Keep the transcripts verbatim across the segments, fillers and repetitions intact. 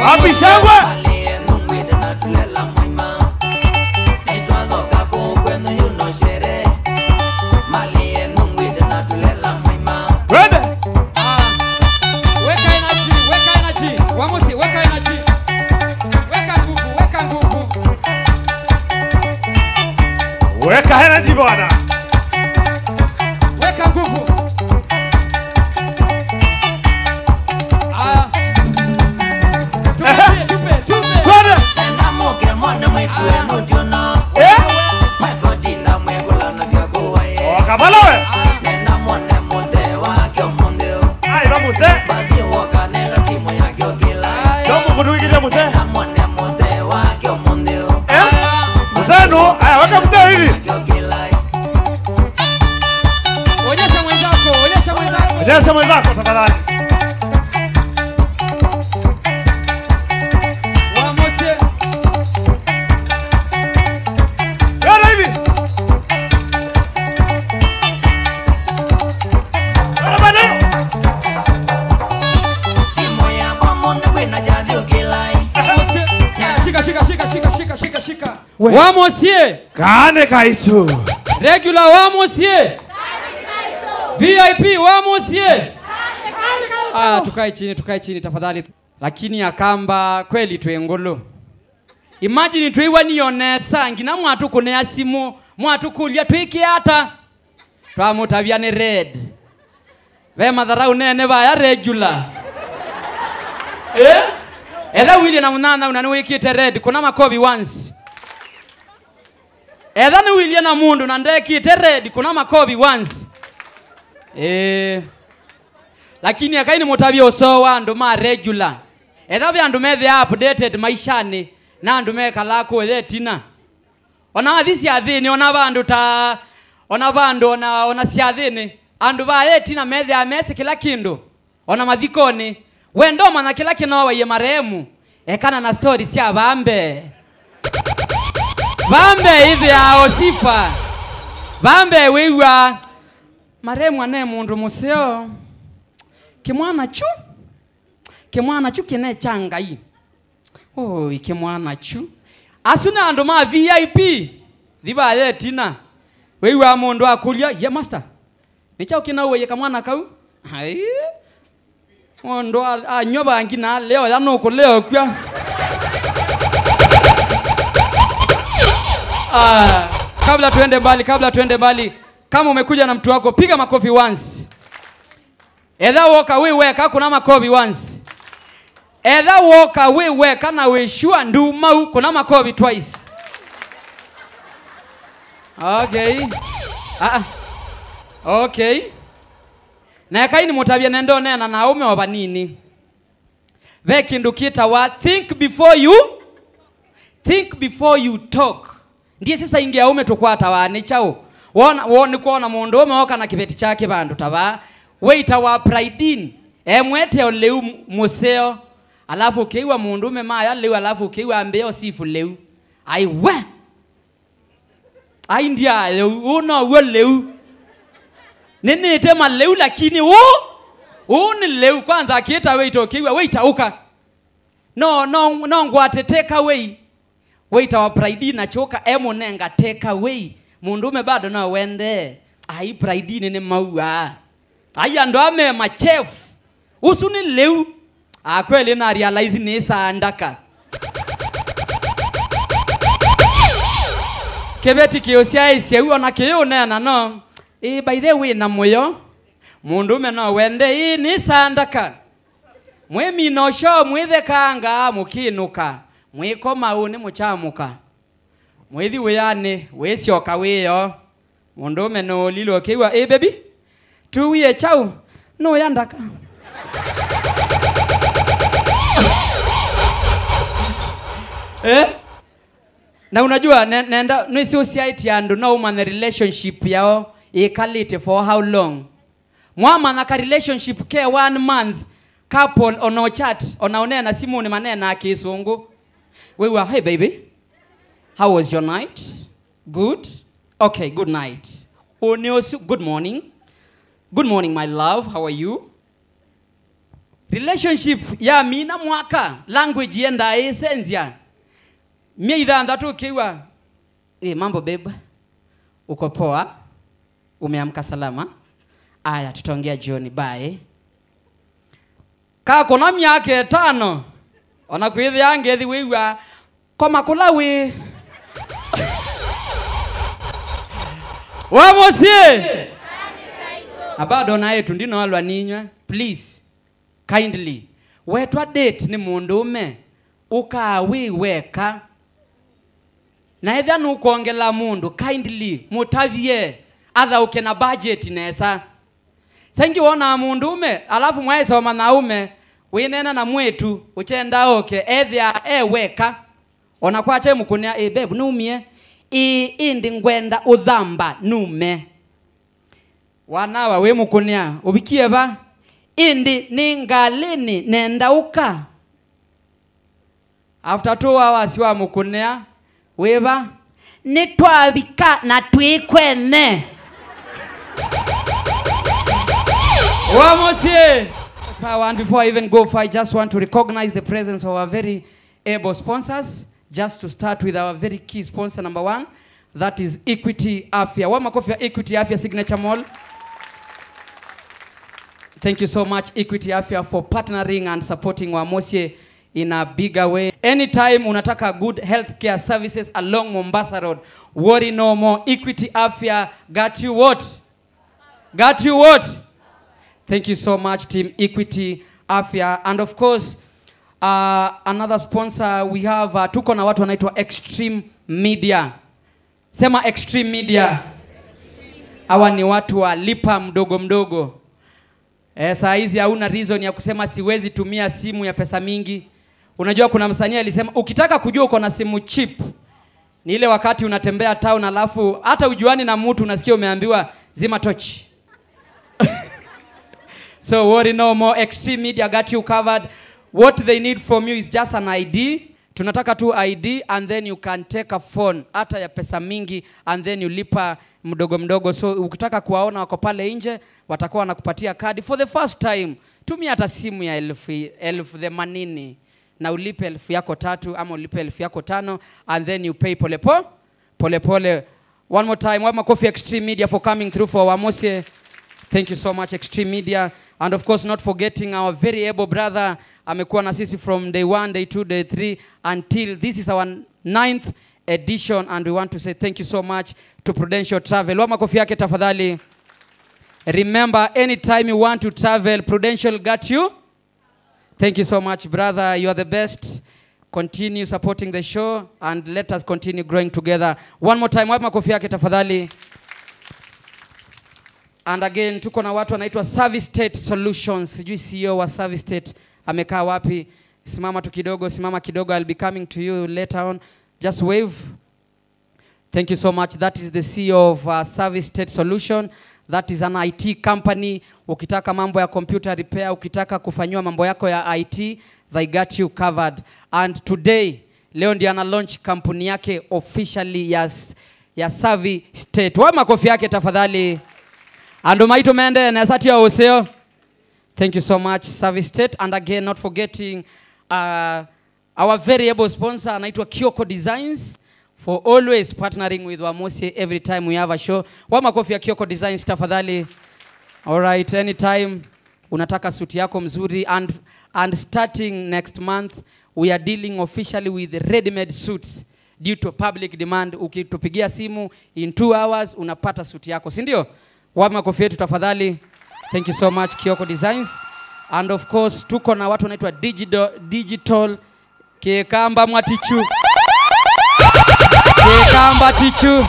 Wapi shangwe? Twende. Ah, weka energy, weka energy. Wa mũsyĩ, weka energy. Weka nguvu, weka nguvu. Weka energy bwana. Weka nguvu. Ah. Tupe, tupe, tupe. Twende. Nenda mũke mone mwĩtu wenu ndiona. Eh? Magodina mwĩgũla na sya kũwa ye. Oka bala we. Nenda mone mũzee wake ũmũnthĩ ũũ. Ai, va mũzee. Basi woka nela timu yake ũkĩla. Ndio mũkũtũikĩte mũzee. Nenda mone mũzee wake ũmũnthĩ ũũ. Eh? Mũzee nũ? Aya, weka mũzee hivi. Onyesha mwenzako, onyesha mwenzako. Onyesha mwenzako tafadhali. Wa mũsyĩ. Twende hivi. Twende bado. Timu yakwa mũnthĩ kwĩna kyathi ũkĩlai. Wa mũsyĩ. Shika, shika, shika, shika, shika, shika, shika. We. Wa mũsyĩ. Kaane kaitũ. Regular wa mũsyĩ. V I P wa mũsyĩ. Ah, tukae chini, tukae chini tafadhali. Lakini Akamba kweli twĩ ngũlũ. Imagine twĩw'anĩo nesa, nginya mwatũkũnĩa simũ, mwatũkũlya twĩke ata? Twamũtavya nĩ red. Ve matharau nene vaya regular. Eh? Etha ũilyĩ na mũnyanyaũ na nĩwĩkĩte red, kũna makovi once. Etha nĩwĩilyĩ na mũndũ na ndekĩte red, kũna makovi once. Eh. Lakini ekai nĩmũtavye ũsoo wa andũ ma regular. Etha ve andũ methĩaa updated maishanĩ, na andũ mekalaa kũya ĩtina. Ona wathi syathĩnĩ, ona vandũ ta, ona vandũ, ona, ona syathĩnĩ, andũ vaya ĩtina methĩaa mesĩ kĩla kĩndũ. Ona mathikonĩ, we ndomanya kĩla kĩnooaie marehemu, ekana na story sya vaa mbee. Vaa mbee ĩthĩaa o sifa. Vaa mbee wĩw'aa, marehemu ane mũndũ mũseo. Kĩmwana kyu, kĩmwana kyu kĩne kya Ngai. Oi, kĩmwana kyu. Asu nĩ andũ ma V I P. Thi vaya ĩtina. Wĩw'aa mũndũ akũlya, "Ye master, nĩ kyaũ kĩnauaie kamwana kau?" Ai. Mũndũ a-, anyw'a vangi na alea ũya nũkũlea ũkw'a. Ah, kabla tuende mbali, kabla tuende mbali, kama umekuja na mtu wako, piga makofi once. Etha woka wĩ weka, kũna makovi once. Etha woka wĩ weka na wĩ sure ndumau, kũna makovi twice. Okay. Ah, ah. Okay. Na ekai nĩmũtavye nenda ũneena na aũme o vanini. Ve kĩndũ kĩtawa think before you, think before you talk. Ndiĩsĩ saingĩ aũme tũkwatawa nĩ kyaũ. Wona, wo-, nĩkwona mũndũ ũme oka na kĩveti kyake vandũ ta vaa. Waiter wa Pride Inn, emwete o lĩu m-, mũseo. Alafu ũkĩw'a mũndũme maya lĩu, alafu ũkĩw'a ambĩa ũsifu lĩu. Ai we! Ai ndyaaye ũu, ũũ now'o lĩu. Nĩnĩte malĩu lakini ũũ, ũũ nĩ lĩu. Kwanza akĩta waiter ũkĩw'a, "Waiter, ũka." No, no, no ngwate take away. Waiter wa Pride Inn akyoka emũnenga take away. Mũndũme bado no wendee. Ai, Pride Inn nĩ mauaa. Ai, andũ aa me ma chef. Ũsu nĩ lĩu. Ah, kweli na realize nĩ saa ndaka. Kĩveti kĩũsyaĩĩsya ũu ona kĩyũneena no. Ĩ, by the way, na mũyo. Mũndũme no wende, ĩ, nĩ saa ndaka. Mwĩmina ũsyo, mwĩthekangaa, mũkĩnũka, mwĩkoma ũnĩ mũkyamũka. Mwĩthi wĩanĩ, wĩsyoka wĩoo. Mũndũũme nũũlilwe ũkĩw'a, "Ĩ, baby, tũwie kyaũ? Nũya ndaka." Eh? Na unajua, ne-, nenda, nĩsĩ ũsyaĩtye andũ, no ũmanye relationship yao ĩkalĩte for how long. Mwamanya ka relationship ke one month, couple ona chat, ona ũneena simũnĩ maneenaa kĩsũngũ. Wĩw'a, "Hey baby, how was your night? Good? Okay, good night." Ũnĩ ũsu, "Good morning. Good morning, my love. How are you?" Relationship yamina mwaka, language yendaa ĩsenzya. Myei thanthatũ ũkĩw'a, "Hey, mambo babe, uko poa? Umeamka salama? Aya, tutaongea jioni, bye." Kakũna myaka ĩtano, ona kwĩthĩa ngethi wĩw'a, "Koma kũla wĩ." Wa mũsyĩ. Na bado naĩtu ndinoalwa ninywe, please. Kindly, wetwa date nĩ mũndũũme, ũkaa wĩ weka. Na ethĩa nũkwongela mũndũ, kindly mũtavye athaũke na budget nesa. Saingĩ wonaa mũndũũme, alafu mwaĩsoma na aũme, wĩneena na mwĩĩtu ũkyenda oke, ethĩa e weka. Ona kwate mũkũnĩa, "Ĩ, babe, nũmie?" "Ĩ, ĩndĩ ngwenda ũthamba nume." Wanawa wĩ mũkũnĩa, "Ũvikie va?" "Ĩndĩ nĩ ngalĩnĩ, nenda ũka." After two hours wa mũkũnĩa, "Wĩ va?" "Nĩtwavika na twĩ kwene." Wa mũsyĩ. So, and before I even go far, I just want to recognize the presence of our very able sponsors. Just to start with our very key sponsor number one, that is Equity Afya. Wa makofi ya Equity Afya Signature Mall. Thank you so much, Equity Afya, for partnering and supporting Wa Mũsyĩ in a bigger way. Anytime unataka good healthcare services along Mombasa Road, worry no more. Equity Afya got you what? Got you what? Thank you so much, Team Equity Afya. And of course, uh, another sponsor we have, uh, tuko na watu wanaitwa Extreme Media. Sema Extreme Media. Hawa ni watu wa lipa mdogo mdogo. Eh, saa hizi hauna reason ya kusema siwezi tumia simu ya pesa mingi. Unajua kuna msanii alisema, "Ukitaka kujua uko na simu cheap, ni ile wakati unatembea town alafu hata ujuani na mtu unasikia umeambiwa zima tochi." So worry no more, Extreme Media got you covered. What they need from you is just an I D. Tunataka tu I D and then you can take a phone hata ya pesa mingi and then you lipa mdogo mdogo. So ukitaka kuwaona wako pale nje, watakuwa wanakupatia kadi. For the first time, tumia hata simu ya elfu, elfu themanini na ulipe elfu yako tatu ama ulipe elfu yako tano and then you pay polepole, polepole. One more time, wapi makofi Extreme Media for coming through for Wa Mũsyĩ. Thank you so much, Extreme Media. And of course, not forgetting our very able brother, amekuwa na sisi from day one, day two, day three, until this is our ninth edition, and we want to say thank you so much to Prudential Travel. Wapi makofi yake tafadhali. Remember, anytime you want to travel, Prudential got you. Thank you so much, brother. You are the best. Continue supporting the show and let us continue growing together. One more time, wapi makofi yake tafadhali. And again, tuko na watu wanaitwa Service State Solutions. Sijui C E O wa Service State amekaa wapi. Simama tu kidogo, simama kidogo. I'll be coming to you later on. Just wave. Thank you so much. That is the C E O of, uh, Service State Solution. That is an I T company. Ukitaka mambo ya computer repair, ukitaka kufanyiwa mambo yako ya I T, they got you covered. And today, leo ndiye ana launch kampuni yake officially ya s-, ya Savi State. Wapi makofi yake tafadhali. Andũ maitũ mende nesa tio ũseo. Thank you so much, Savi State. And again, not forgetting, uh, our very able sponsor anaitwa Kioko Designs for always partnering with Wa Mũsyĩ every time we have a show. Wapi makofi ya Kioko Designs tafadhali. All right, anytime unataka suti yako mzuri and, and starting next month, we are dealing officially with ready-made suits due to public demand. Ukitupigia simu, in two hours unapata suti yako, si ndio? Wapi makofi yetu tafadhali? Thank you so much, Kioko Designs. And of course, tuko na watu wanaitwa Digital, Digital Kĩkamba Mwatichu. Kĩkamba Tichu.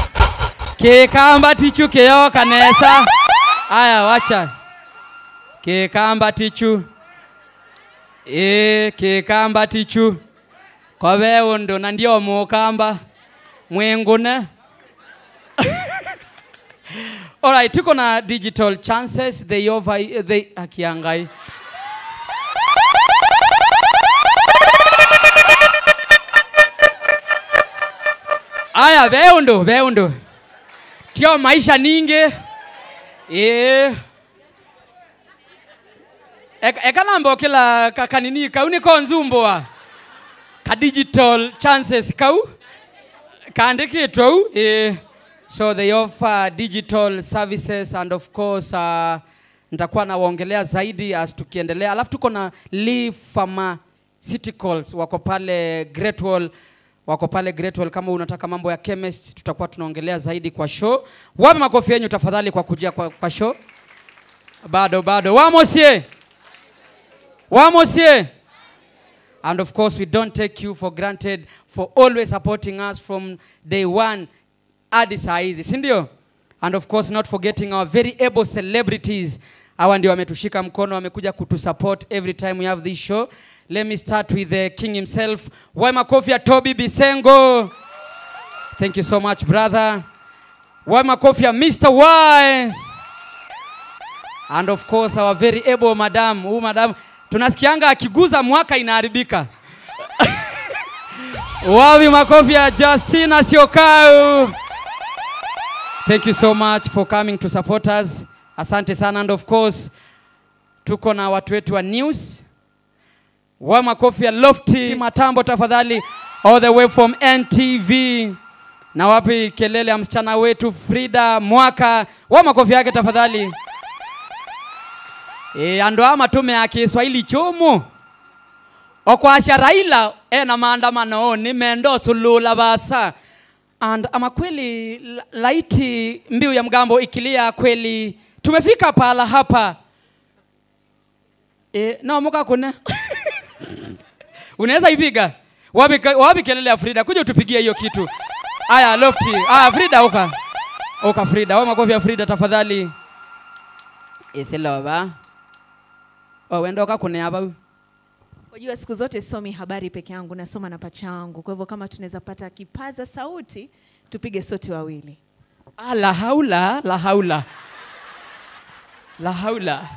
Kĩkamba Tichu kĩyoka nesa. Aya, wacha. Kĩkamba Tichu. Ĩĩ, Kĩkamba Tichu. Ko ve ũndũ, na ndio mũkamba. Mwĩngũne. All right, tuko na Digital Chances, they over, they, akia Ngai. Aya, ve ũndũ, ve ũndũ. Tio maisha ningĩ. Ĩĩ. Eka, eka namba ũkĩla ka-, kanini kau nĩkonzumbũa. Ka digital chances kau. Kaandĩkĩtwe u. Eh. So they offer digital services and of course, uh, nitakuwa nawaongelea zaidi as tukiendelea. Alafu tuko na Lee Pharmaceuticals, wako pale Great Wall. Wako pale Great Wall. Kama unataka mambo ya chemist, tutakuwa tunaongelea zaidi kwa show. Wapi makofi yenyu tafadhali kwa kujia kwa, kwa show? Bado, bado. Wa mũsyĩ. Wa mũsyĩ. And of course, we don't take you for granted for always supporting us from day one hadi saa hizi, si ndio? And of course, not forgetting our very able celebrities. Hawa ndio wametushika mkono, wamekuja kutusupport every time we have this show. Let me start with the king himself. Wapi makofi ya Toby Bisengo. Thank you so much, brother. Wapi makofi ya Mister Wise. And of course, our very able madam. Huyu madam, tunasikianga akiguza mwaka inaharibika. Wapi makofi ya Justina Siokau. Thank you so much for coming to support us. Asante sana. And of course, tuko na watu wetu wa news. Wapi makofi ya Lofty Matambo tafadhali, all the way from N T V. Na wapi kelele ya msichana wetu Frida Mwaka? Wapi makofi yake tafadhali. E, andũ aa matũmĩaa Kĩswahili kyũmũ. O kwasya Raila ena maandamano, nĩmenda ũsũlũla vaasa. And ama kweli, la-, laiti mbiu ya mgambo ikilia kweli. Tumefika pahala hapa. E, no mũkakũne. Unaweza ipiga? Wapi ka-, wapi kelele ya Frida? Kuja utupigie hiyo kitu. Aya, Lofty. Aya, Frida, uka. Uka, Frida. Wapi makofi ya Frida, tafadhali. Ĩsĩ lova. O, wenda ũkakũne vau. Wajua, siku zote somi habari peke yangu, nasoma na pacha wangu. Kwa hivyo kama tunaweza pata kipaza sauti, tupige sote wawili. Ah, la haula, la haula. La haula.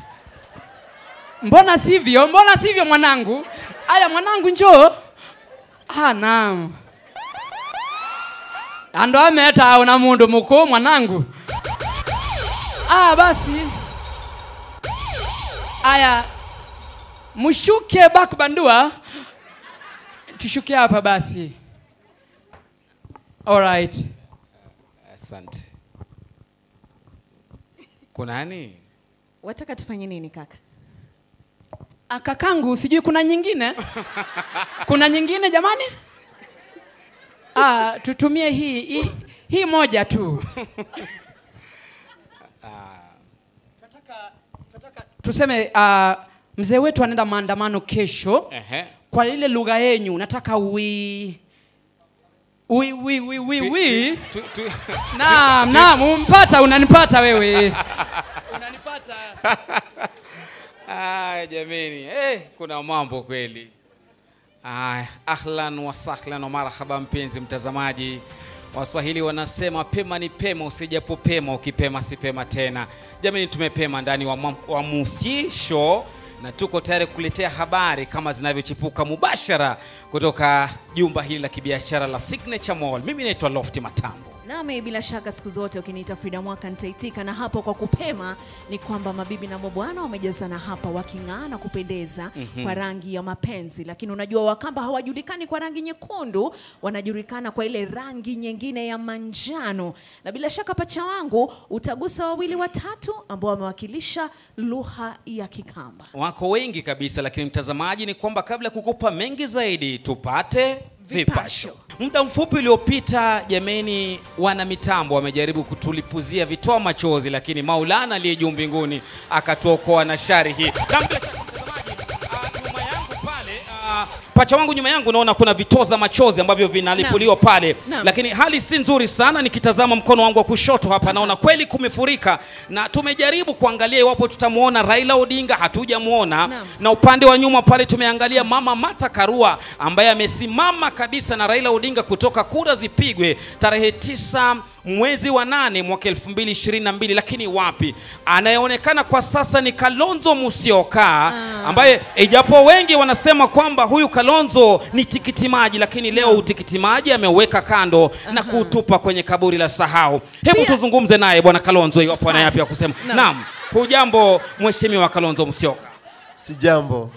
Mbona sivyo? Mbona sivyo, mwanangu? Aya, mwanangu, njoo. Ah, naam. Andũ aa metaa ona mũndũ mũkũũ, mwanangu. Ah, basi. Aya. Mshuke back bandua. Tushuke hapa basi. All right. Asante. Kuna nini? Wataka tufanye nini, kaka? Ah, kakangu, sijui kuna nyingine? Kuna nyingine, jamani? Ah, tutumie hii, hii, hii moja tu. Ah. Tunataka, tunataka tuseme, ah, mzee wetu anaenda maandamano kesho. Ehe. Kwa ile lugha yenyu, nataka ui-, ui-, ui-, ui-, ui-, ui-. Tu-, tu-, tu-, naam, naam, umpata, unanipata wewe. Unanipata. Ah, jameni. Eh, kuna mambo kweli. Aya, ahlan wa sahlan wa marhaba, mpenzi mtazamaji. Waswahili wanasema, "Pema ni pema, usijapopema, ukipema si pema tena." Jamani, tumepema ndani wa ma-, wa Musyĩ Show, na tuko tayari kukuletea habari kama zinavyochipuka mubashara kutoka jumba hili la kibiashara la Signature Mall. Mimi naitwa Lofty Matambo. Nami bila shaka siku zote ukiniita Frida Mwaka nitaitika, na hapo kwa kupema ni kwamba mabibi na mabwana wamejazana hapa waking'aa na kupendeza, mhm, kwa rangi ya mapenzi. Lakini unajua Wakamba hawajulikani kwa rangi nyekundu, wanajulikana kwa ile rangi nyingine ya manjano. Na bila shaka, pacha wangu, utagusa wawili watatu ambao wamewakilisha lugha ya Kikamba. Wako wengi kabisa, lakini mtazamaji, ni kwamba kabla ya kukupa mengi zaidi, tupate vipasho. Vipasho. Muda mfupi uliopita, jameni, wana mitambo wamejaribu kutulipuzia vitoa machozi, lakini Maulana aliye juu mbinguni akatuokoa na shari hii. Na bila shaka, mtazamaji, ah, nyuma yangu pale, ah, pacha wangu, nyuma yangu naona kuna vitoza machozi ambavyo vinalipuliwa, naam, pale. Naam. Lakini hali si nzuri sana, nikitazama mkono wangu wa kushoto hapa, aha, naona kweli kumefurika. Na tumejaribu kuangalia iwapo tutamuona Raila Odinga, hatujamuona. Naam. Na upande wa nyuma pale tumeangalia Mama Martha Karua, ambaye amesimama kabisa na Raila Odinga kutoka kura zipigwe tarehe tisa mwezi wa nane mwaka elfu mbili ishirini na mbili, lakini wapi? Anayeonekana kwa sasa ni Kalonzo Musyoka, ah, ambaye ijapo wengi wanasema kwamba huyu Kalonzo ni tikiti maji, lakini leo, naam, utikiti maji ameuweka kando na, aha, kuutupa kwenye kaburi la sahau. Hebu, pia, tuzungumze naye Bwana Kalonzo iwapo ana yapi ya kusema. Naam. Naam. Hujambo, Mheshimiwa Kalonzo Musyoka? Sijambo.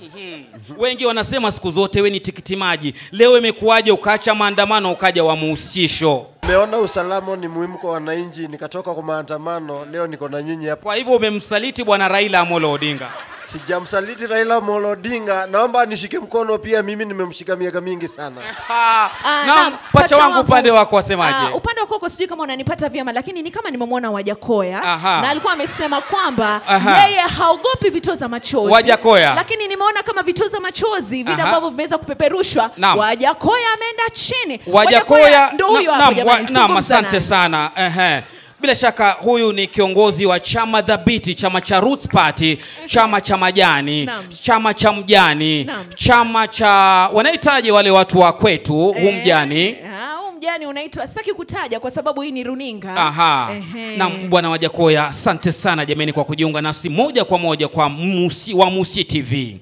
Wengi wanasema siku zote we ni tikiti maji. Leo imekuwaje ukaacha maandamano ukaja Wamusi show? Nimeona usalama ni muhimu kwa wananchi, nikatoka kwa maandamano, leo niko na nyinyi hapa. Kwa hivyo umemsaliti bwana Raila Amolo Odinga? Sijamsaliti Raila Amolo Odinga, naomba nishike mkono pia, mimi nimemshika miaka mingi sana. Ah, naam, naam, pacha pacha wangu, wangu, upande wako wasemaje? Ah, upande wako sijui kama unanipata vyema, lakini ni kama nimemwona Wajakoya. Aha. Na alikuwa amesema kwamba Aha. yeye haogopi vituo za machozi. Wajakoya. Lakini nimeona kama vituo za machozi vile Aha. ambavyo vimeweza kupeperushwa, Naam. Wajakoya ameenda chini. Wajakoya, Wajakoya ndo huyo na- hapo naam, jamani, wa- naam, zungumza asante naye. sana. Ehe. Bila shaka huyu ni kiongozi wa chama dhabiti, chama cha Roots Party, chama cha majani, Naam. chama cha mjani, Naam. chama cha, wanahitaji wale watu wa kwetu, huu Eh, mjani. ah, huu mjani unaitwa, sitaki kutaja kwa sababu hii ni runinga. Aha. Ehe. Naam, bwana Wajakoya, asante sana jameni kwa kujiunga nasi moja kwa moja kwa Musi, Wamusi T V.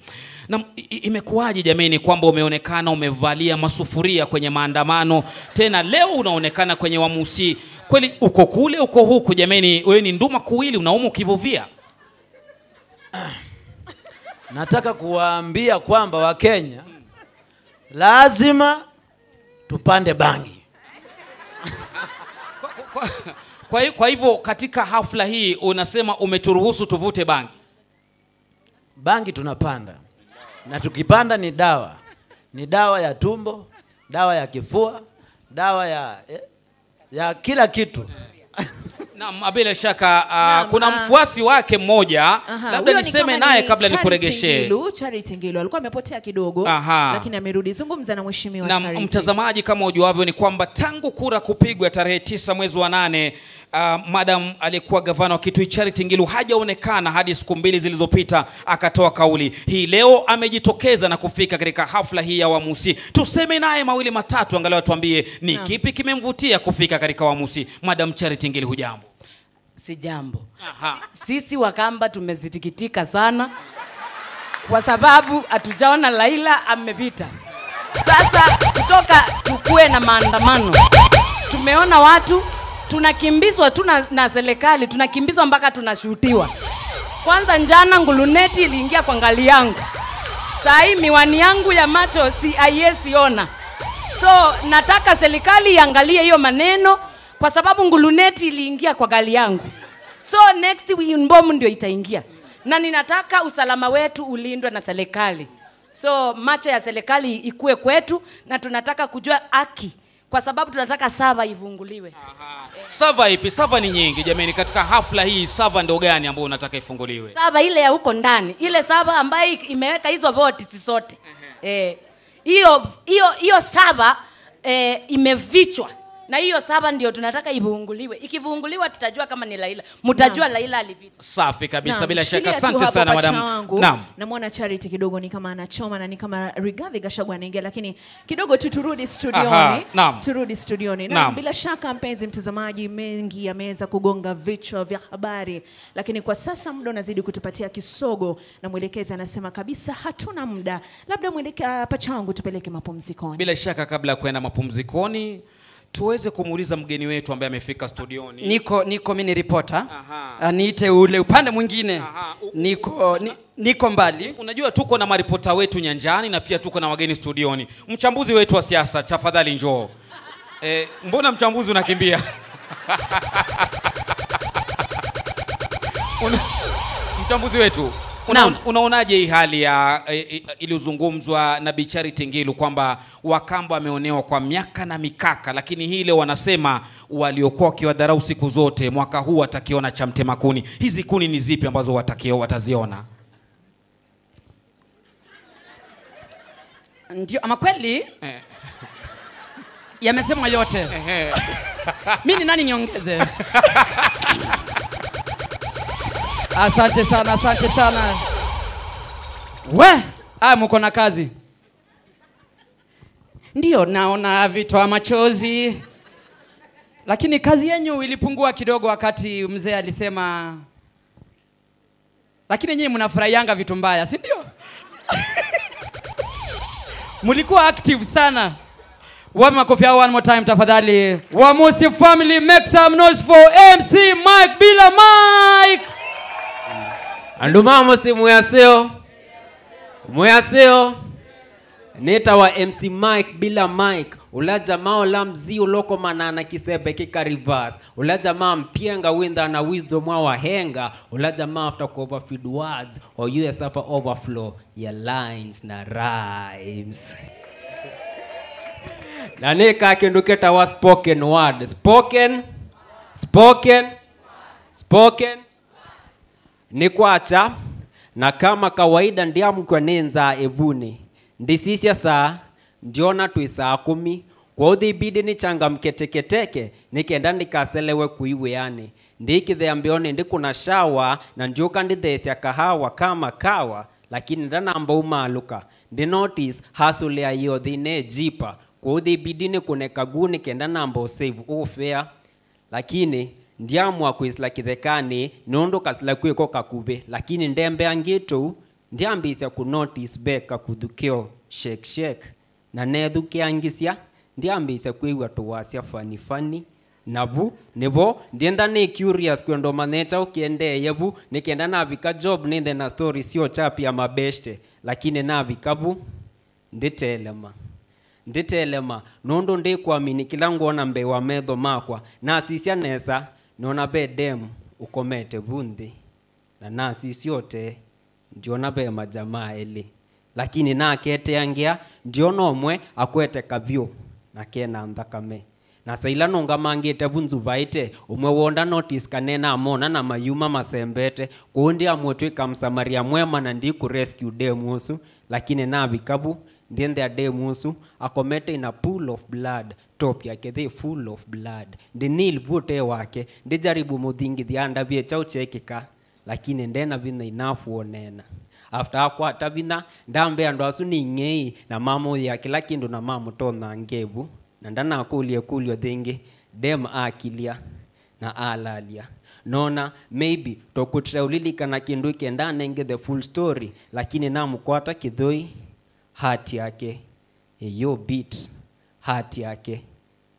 Na i- i- imekuwaje jameni kwamba umeonekana umevalia masufuria kwenye maandamano, tena leo unaonekana kwenye Wamusi? Kweli uko kule, uko huku jameni, wewe ni nduma kuwili, unauma ukivuvia. Nataka kuwaambia kwamba Wakenya lazima tupande bangi. Kwa, kwa, kwa, kwa hivyo katika hafla hii unasema umeturuhusu tuvute bangi? Bangi tunapanda. Na tukipanda ni dawa. Ni dawa ya tumbo, dawa ya kifua, dawa ya, eh, ya kila kitu. Naam, bila shaka, ah, Naam, kuna ah. mfuasi wake mmoja, Aha, labda huyo ni niseme kama naye ni kabla Charity nikuregeshe. Ngilu, Charity Ngilu. Alikuwa amepotea kidogo, Aha. lakini amerudi. Zungumza na mheshimiwa Naam, Charity. Mtazamaji, kama ujuavyo ni kwamba tangu kura kupigwa tarehe tisa mwezi wa nane, ah, madam aliyekuwa gavana wa Kitui Charity Ngilu hajaonekana hadi siku mbili zilizopita akatoa kauli. Hii leo amejitokeza na kufika katika hafla hii ya Wamusi. Tuseme naye mawili matatu, angalau atuambie ni Naam. kipi kimemvutia kufika katika Wamusi. Madam Charity Ngilu, hujambo? Sijambo. Aha. Sisi Wakamba tumesikitika sana kwa sababu hatujaona Raila amepita. Sasa kutoka tukue na maandamano, tumeona watu tunakimbizwa tu na, na serikali, tunakimbizwa mpaka tunashutiwa. Kwanza jana nguluneti iliingia kwa ngali yangu. Saa hii miwani yangu ya macho si haiwezi ona. So nataka serikali iangalie hiyo maneno, kwa sababu nguluneti iliingia kwa gari yangu. So next week mbomu ndio itaingia. Na ninataka usalama wetu ulindwe na serikali. So macho ya serikali ikue kwetu, na tunataka kujua haki, kwa sababu tunataka sava ifunguliwe. Sava ipi? Sava ni nyingi jameni, katika hafla hii sava ndo gani ambayo unataka ifunguliwe? Sava ile ya huko ndani, ile sava ambayo imeweka hizo voti zote. Eh. Hiyo hiyo hiyo sava eh, imefichwa. Na hiyo sava ndio tunataka ifunguliwe. Ikifunguliwa tutajua kama ni Raila. Mtajua Raila alipita. Safi kabisa, Naam, bila shaka. shikilia tu Asante hapo sana pacha madam. Wangu. Naam. Namwona Charity kidogo ni kama anachoma na ni kama Rigathi Gachagua anaingia, lakini kidogo tu turudi studioni. Aha, naam. Turudi studioni. Naam, Naam. bila shaka mpenzi mtazamaji, mengi yameweza kugonga vichwa vya habari, lakini kwa sasa muda unazidi kutupatia kisogo, na mwelekezi anasema kabisa hatuna muda. Labda mweleke, ah, pacha wangu, tupeleke mapumzikoni. Bila shaka, kabla ya kwenda mapumzikoni, tuweze kumuuliza mgeni wetu ambaye amefika studioni. Niko, niko, mi ni ripota. Aha. Ah, niite ule upande mwingine. Aha. U- Niko, ni, niko mbali. Unajua tuko na maripota wetu nyanjani na pia tuko na wageni studioni. Mchambuzi wetu wa siasa, tafadhali njoo. Eh, mbona mchambuzi unakimbia? Una- mchambuzi wetu, una- Naam. unaonaje hii hali ya, eh, eh, iliyozungumzwa na Bi Charity Ngilu kwamba Wakamba wameonewa kwa miaka na mikaka, lakini hii leo wanasema waliokuwa wakiwadharau siku zote mwaka huu watakiona cha mtema kuni. Hizi kuni ni zipi ambazo watakio- wataziona? Ndio, ama kweli? Eh. Yamesemwa yote. Ehe. Mi ni nani niongeze? Asante sana, asante sana. We, ah, mko na kazi. Ndio, naona vitoa machozi. Lakini kazi yenyu ilipungua kidogo wakati mzee alisema Lakini nyinyi mnafurahianga vitu mbaya, si ndio? Mlikuwa active sana. Wapi makofi yao one more time tafadhali? Wamusi family, make some noise for M C Mike Bila Mike. Andũ ma mũsyĩ mwĩ aseo. Mwĩaseo, nĩtawa M C Mike bila Mike, ũla jamaa ũla mzii ũlokomana na kĩsembe kĩka reverse, ũla jamaa mpyenga wĩnthaa na wisdom wa wahenga, ũla jamaa after ku overfeed words, or you suffer overflow ya lines na rhymes. Na nĩka kĩndũ kĩtawa spoken word. Spoken, spoken, spoken. Nĩ kwakya, na kama kawaida ndyamũkw'a nĩ nzaa ĩvunĩ. Ndisisya saa, ndyona twĩ saa kũmi. Kwoou thibidi nĩchangamke teketeke, nĩ kenda ndikaselewe kũi wĩanĩ. Ndĩkĩthea mbĩonĩ ndĩkũna shower, na ndyũka ndĩtheesya kahawa kama kawa, lakini ndanamba umaalũka. Ndi notice hustle ya ĩothi nĩĩjipa, kwoou thibidi nĩkũne kaguu nĩ kenda namba ũ save ũ fare. Lakini ndyamũa kwĩsĩla kĩthekanĩ, nũndũ kasĩla kwĩko kakuvĩ. Lakini ndembeangĩte ũu, ndyambĩĩsya kũ notice ve kakuthu keo shake shake. Na neethukĩangĩsya, ndyambĩĩsya kwĩw'a tũwasya funny funny. Na vu nĩvo ndyenda nĩ curious kwenda ũmanye kyaũ kĩendeeye vu, nĩ kenda navika job nĩnthe na story syochapia mabeshte. Lakini navika vu, ndĩtelema. Ndĩtelema, nũndũ ndĩkwamini kĩla ngwona mbee wa metho makwa. Nasisya nesa, nona ve dem ũkomete vu nthĩ. Na nasisya ũtee, ndyona ve majamaa elĩ. Lakini naketeangĩa, ndyona ũmwe akwete kavyũ na kena nthakame. Na saa ila nũngamangĩte vu nzuvaĩte, ũmwe woo nda notice kana namona na mayuma masembete. Kwoou ndiamũtw'ĩka Msamaria mwema na ndikũ rescue dem ũsu. Lakini navika vu, ndyĩthĩa dem ũsu akomete in a pool of blood, top yake thĩ full of blood. Ndi kneel vu ũtee wake, ndijaribu mũthingithya andavye kyaũ kyeekĩka. Lakini ndena vinya enough wa ũneena. After akwata vinya, ndambĩa andũ asu nĩ ing'ei, na mamũyĩa kĩla kĩndũ na mamũtonya ngevu. Na ndanakũlya ĩkũlyo yĩngĩ, dem akilya na alalya. Nona, maybe, tokũtĩla ũlilikana kĩndũ kĩ ndanenge the full story, lakini namũkwata kĩthũi, heart yake ĩyũ beat, heart yake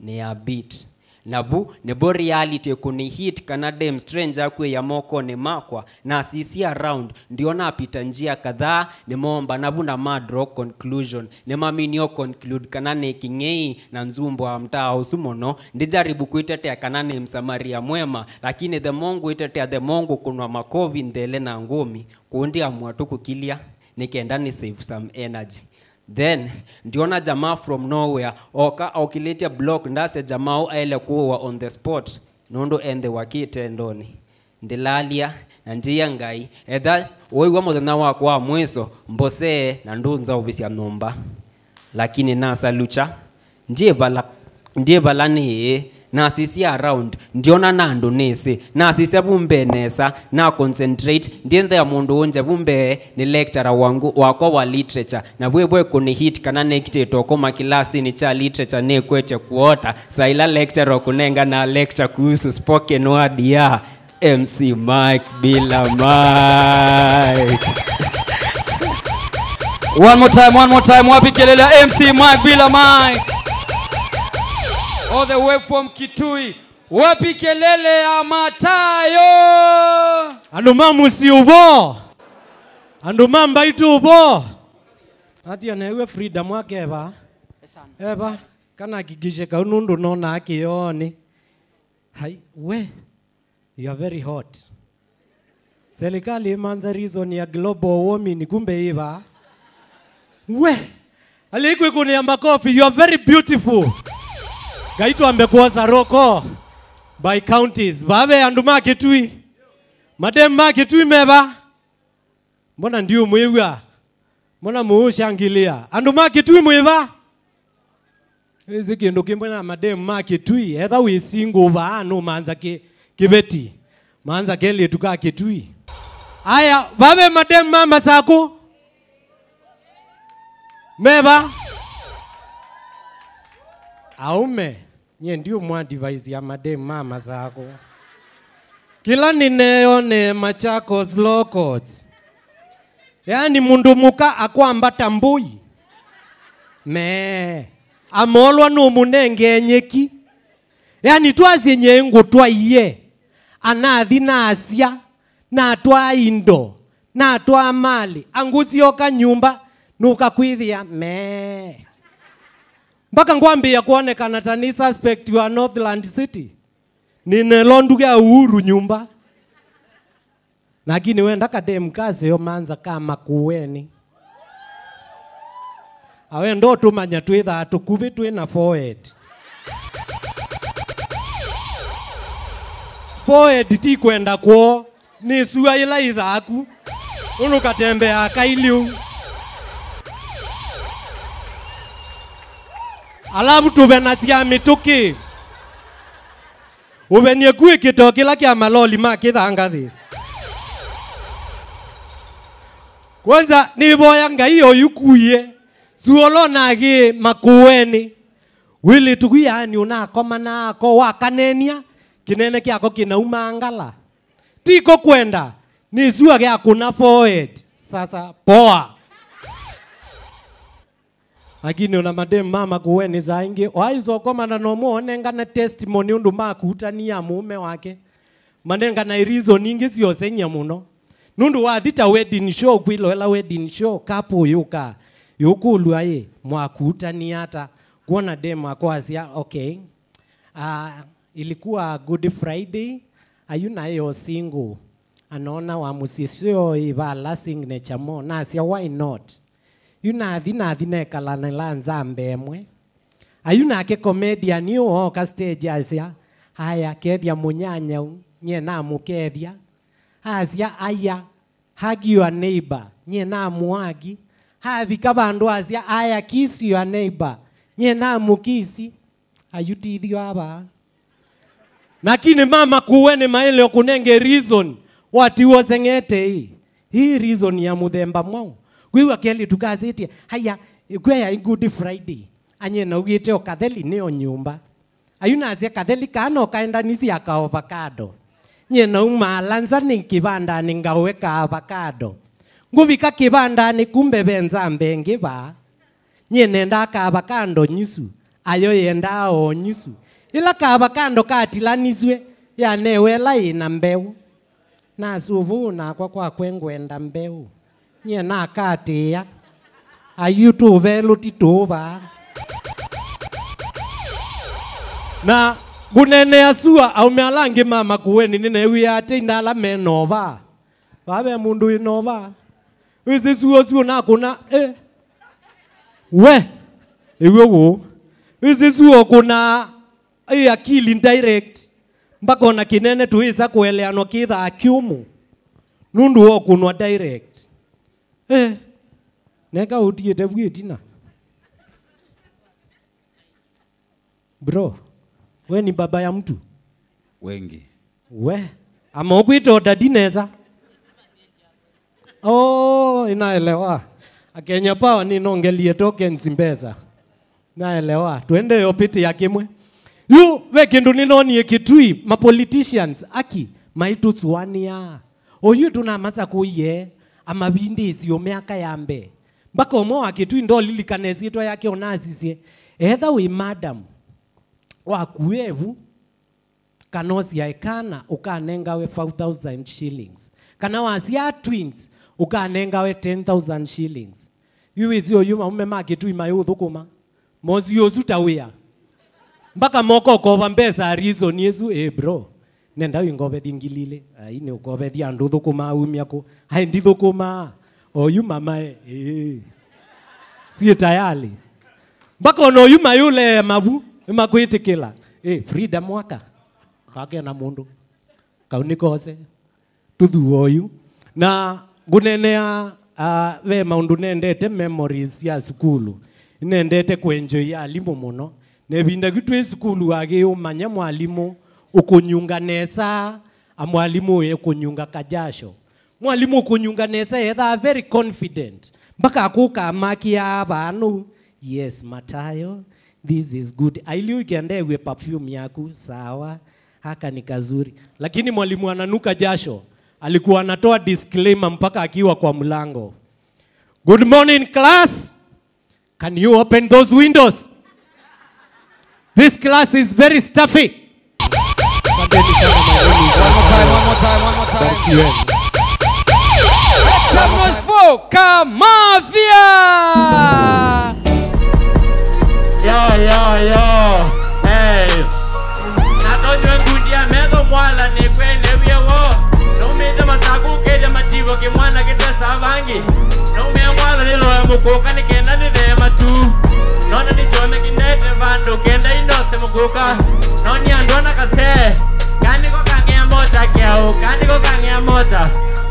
nĩ ya beat. Na vu nĩvo reality kũni hit kana dem stranger akwĩya mokonĩ makwa. Nasisya around, ndiona apita njia kadhaa, nĩmoomba na vu na ma draw conclusion. Nĩmaminio conclude kana nĩ kĩng'ei na nzumbo wa mtaa ũsu mũno. Ndijaribu kwĩtetea kana nĩ Msamaria mwema, lakini the more ngwĩtetea, the more ngũkũnwa makovi nthele na ngũmi. Kũu ndiamua tu kũkilya, nĩ kenda nĩ save some energy. Then, ndiona jamaa from nowhere, oka okilĩtye block, ndasya jamaa ũũ aĩle kũũwa on the spot, nũndũ enthĩwa kĩtendonĩ. Ndĩlalya, na ndyĩa Ngai, etha ũiw'a mũthenya wakwa wa mwĩso, mbosee na ndũnzaũvĩsya nyũmba. Lakini nasalukya, ndyĩ vala, ndyĩ vala nĩĩ, nasisya around, ndyona na andũ nĩsĩ. Nasisya vu mbee nesa, na concentrate, ndyĩthĩa mũndũ ũngya vu mbee nĩ lecturer wangu, wakwa wa literature. Na vwĩ vwe kũni hit kana nĩkitĩtwe ũkoma kĩlasinĩ kya literature nĩkwetye kuota, saa ila lecturer ũkũnenga na lecture kuhusu spoken word ya M C Mike bila Mike. One more time, one more time. Wapi kelele ya M C Mike bila Mike? All the way from Kitui. Wapi kelele ya Matayo? Andũ ma mũsyĩ ũvo. Andũ ma mbaitũ ũvo. Atia newe Frida mwakeva. Eva. Kana hakikishe kau nũndũ nona kĩyoonĩ. Hai, we. You are very hot. Serikali ĩmanza reason ya global warming, kumbe ĩva? We! Alikwĩkũnĩa makofi, you are very beautiful. Ngai twambe kwosa roll call by counties. Vave andũ ma Kitui. Madem ma Kitui meva? Mbona ndiũmwĩw'a? Mbona mũũshangilĩa? Andũ ma Kitui mwĩva? Ĩsĩ kĩndũ kĩmwe na mademu ma Kitui, etha wĩ single vaa nũmanza kĩ, kĩveti. Manza kelĩtu ka Kitui. Aya, vave mademu ma Masakũ? Meva? Aume. Nyie ndiũmũ advise ya mademu ma Masakũ. Kĩla nĩneonee Machakos locals. Yaani mũndũ mũka akwambata mbũi. Mee. Amolwa nũmũnengee nyeki. Yaani twasye nyie ngũtwaie. Anathi na asya. Natwaa indo. Natwaa malĩ, angũsyoka nyũmba, nũka kwĩthĩa mee. Mpaka ngwambĩĩa kwonekana ta nĩ suspect wa Northland City. Nĩnelo nduka ya Uhuru nyũmba. Lakini wenda kadem kaseo manza ka Makueni. Awenda ũtũmanya twĩthaa tũkuvĩ twĩ na forehead. Forehead ti kwenda kwoo, nĩ sua ĩla ĩthaaku. Ũnũkatembeaa kailiu. Alavu tũvenasya mĩtũkĩ. Ũvenie kwĩ kĩtoo kĩla kya maloli ma kĩthangathĩ. Kwanza, nĩvoya Ngai oyu kuie, suolo nagĩ Makueni. Wĩlĩtu kũ yaani ũnakoma nako wakanenia, kĩnene kyako kĩnauma ngala. Tiko kwenda, nĩ sua gya kũna forehead. Sasa, poa. Lakini ona madem ma Makueni saa ingĩ, waisokoma na no mũonengane testimony ũndũ makutania mũũme wake. Manengana reason ingĩ syoseng'ya mũno. Nũndũ wathi ta wedding show, kwĩloela wedding show, couple yũka, yũkũlw'a ĩ, mwakutania ata? Kwona dem akwasya, okay. Ah, ilikuwa Good Friday, ayu naĩ o single. Anoona wa mũsyĩ syo ĩvala signature mo. Nasya, why not? Yu nathi, nathi nekalanĩla nzamba ĩmwe. Ayu nake comedian yu ooka stage asya, aya, kethya mũnyanyau, nyie namũkethya. Asya, aya, hug your neighbor, nyie namũhagi. Avika vandũ asya, aya, kiss your neighbor, nyie namũkisi. Ayutithio ava. Lakini ma Makueni maĩle kũnenge reason watiwa seng'ete ĩ. Hii reason ya mũthemba mwaũ? Kwĩw'a kelĩtu kasĩtye, haya, ĩkwĩa ya Good Friday. Anyie naugĩte o katheli nĩ o nyũmba. Ayu nasya katheli kaa no kaendanisye aka avocado. Nyie naumaala nza nĩ kĩvandanĩ ngaũe ka avocado. Ngũvika kĩvandanĩ kumbe ve nzamba ĩngĩ vaa. Nyie nendaa ka avocado nyusu, ayo yendaa o nyusu. Ĩla ka avocado katilanisw'e, yanewe ĩla yĩ na mbeũ. Nasũvũũ nakwa kwakwe ngwenda mbeũ. Nyie nakatĩĩa. Ayu tũvelũ ti tũũ vaa. Na ngũneenea sua, aũme ala angĩ ma Makueni nĩneew'ĩaa tei na ala me nova. Vaa ve mũndũ wĩ nova. Wĩsĩ suo suo nakũna, eh. We, ĩw'o wũ. Wĩsĩ suo kũna, ĩ akili direct. Mpaka ona kĩnene tũĩsa kũeleanwa kĩthaa kĩũmũ. Nũndũ wa kũnwa direct. Eh, neka ũtiĩte vu ĩtina. Bro, we ni baba ya mtu? Wengi. We, ama ũkwĩta ũtadi nesa? Oh, inaelewa. Akenya Power ninongelie tokens mbesa. Naelewa. Twende yo piti ya kimwe. Yu, ve kĩndũ nĩnonie Kitui, ma politicians, aki, maitũsũanĩa. Oyu tũnamasakũie, amavindĩsyo myaka ya mbee. Mpaka ũmwe wa Kitui ndolilikana ĩsyĩtwa yake ona asisye, etha wĩ madam, wakuevu, kana ũsyae kana, ũkanengawe five thousand shillings. Kana wasyaa twins, ũkanengawe ten thousand shillings. Yu wĩsĩ oyu maume ma Kitui mayũthũkũma. Mosi ũsu ta wĩa. Mpaka moka ũkova mbesa reason ĩsu, eh, bro. Nenda wĩngovethye ngili ilĩ. Ai, nĩ ũkovethya andũ thũkũma umya kũ? Ai, ndithũkũmaa. Oyu mamae, eh. Sie tayari. Mpaka ona oyu mayũlee mavu, nĩmakwĩtĩkĩla. Eh, Frida Mwaka. Kake na mũndũ. Kau nĩ kose. Tũthua oyu. Na ngũneenea, ah, ve maũndũ nendete, memories sya sukulu. Nendete kũenjoy alimũ mũno. Na ĩvinda kĩu twĩ sukulu wagĩĩ ũmanya mwalimũ ũkũnyunga nesa, a mwalimũ ũyĩ ũkũnyunga kajasho. Mwalimũ ũkũnyunga nesa ethaa very confident. Mpaka akũka amakia vaa nũu. Yes, Matayo, this is good. Ailiu ikendeew'e perfume yaku, sawa. Haka ni kazuri. Lakini mwalimu ananuka jasho, alikuwa anatoa disclaimer mpaka akiwa kwa mlango. Good morning, class. Can you open those windows? This class is very stuffy. Asanteni sana mwalimu. One more time, one more time, one more time. Barikiweni. Kamafia! Yo, yo, yo. Hey. Na tonywe ngundi ya metho mwala nĩ kwene w'e wo. Naumĩte Masaku kĩlya mativo kĩmwana kĩtesa vangi. Naumĩa mwala nĩloe mũkũka nĩ kenda nĩthee matu. Nona nĩ kyome kĩnete vandũ kenda indose mũkũka. Noni andũ ana kasee. Kaniko kang'ea mota kĩao. Kaniko kang'ea mota.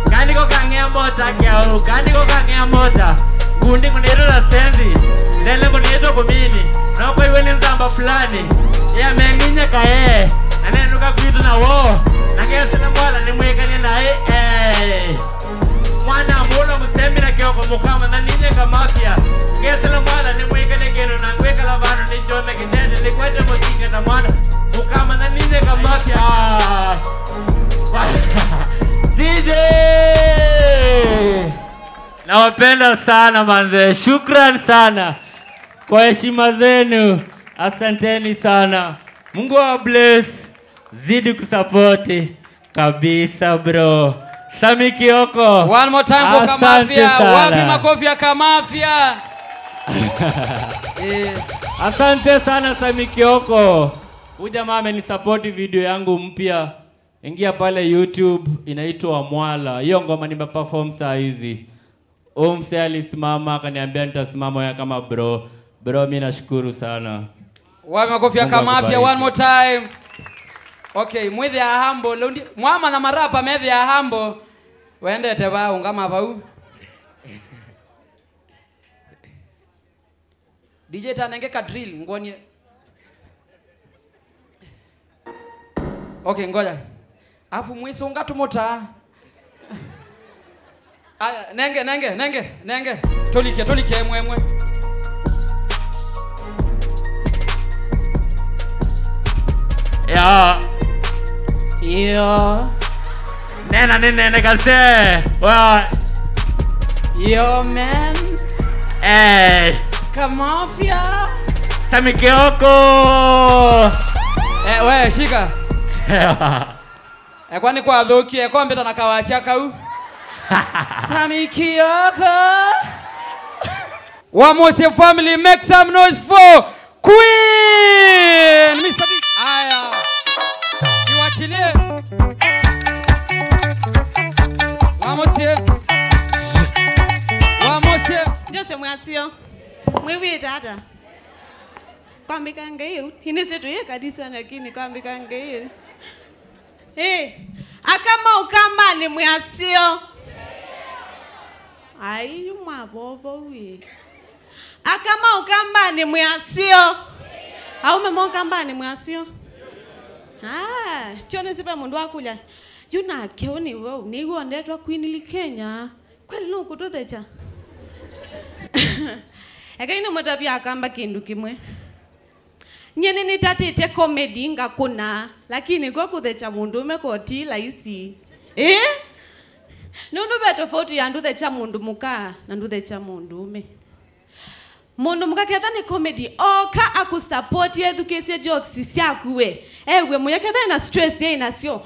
Kaniko kang'ea mota kĩao. Kaniko kang'ea mota. Ngundi kũnĩtwe na sendi. Ndele kũnĩtwe kũmini. Nokwaiwe nĩ nzamba fulani. Yameng'inye kae. Anenũka kwitũ na wo. Na kesĩla mwala nĩmwĩkanie naĩ. Eh. Mwana mũla mũsembi na kĩoko mũkama na ninye kamafia. Ngesĩla mwala nĩmwĩkanie kĩndũ na ngwĩkala vandũ nĩkyome kĩndende nĩkwete mũsinga na mwana mũkama na ninye kamafia. Ah. D J! Nawapenda sana manze. Shukran sana kwa heshima zenu. Asanteni sana. Mungu wa bless. Zidi kusapoti kabisa bro. Sami Kioko. One more time for Kamafia. Wapi makofi ya Kamafia? Eh. Asante sana Sami Kioko. Huyu jamaa amenisapoti video yangu mpya. Ingia pale YouTube inaitwa Mwala. Hiyo ngoma nimeperform saa hizi. Huyu msee alisimama akaniambia nitasimama ya kama bro. Bro, mi nashukuru sana. Wapi makofi ya Kamafia one more time. Okay, mwĩthĩa humble. Leo ndi mwama na marapa methĩa humble. Wendete va ungama vau. D J tanenge ka drill ngwonie. Okay, ngoja. Afu mwisunga tumuta. Aya, nenge, nenge, nenge, nenge. Tolike, tolike, emwe, emwe. Ya. Yo. Nena nĩ nene kase. Wa. Yo, man. Eh. Kamafia. Sami Kioko. Eh, we, shika. Eh, kwani kwathũkie, kwambĩta na kawasya kau. Sami Kioko. Wamosie family, make some noise for Queen, Mister D. Aya. Kiwachilie. Wamosie. Wamosie. Jose Mwasio. Mwiw'ĩte ata? Kwambĩka Ngai yu. Inĩ sitũ yĩ kanisa lakini kwambĩka Ngai yu. Eh, aka ma Ũkambanĩ mwĩ aseo. Ai, yu mwavovou ĩ. Aka ma Ũkambanĩ mwĩ aseo. Aume ma Ũkambanĩ mwĩ aseo. Ah, tyo nĩsĩ ve mũndũ wakũlya. Yu nake ũ nĩ wau, nĩw'o ndetwa Queen Lee Kenya. Kweli nũkũtũthekya? Ekai nĩmũtavye Akamba kĩndũ kĩmwe. Nyie nĩnĩtatĩte comedy ngakũna, lakini kwa kũthekya mũndũũme ko ti laisi. Ĩ? Nũndũ ve tofauti ya ndũthekya mũndũ mũka na ndũthekya mũndũũme. Mũndũ mũka ketha nĩ comedy, oka akũsupport, ethukĩĩsye jokes syaku we. Ew'e mũya ketha ena stress yĩ nasyo.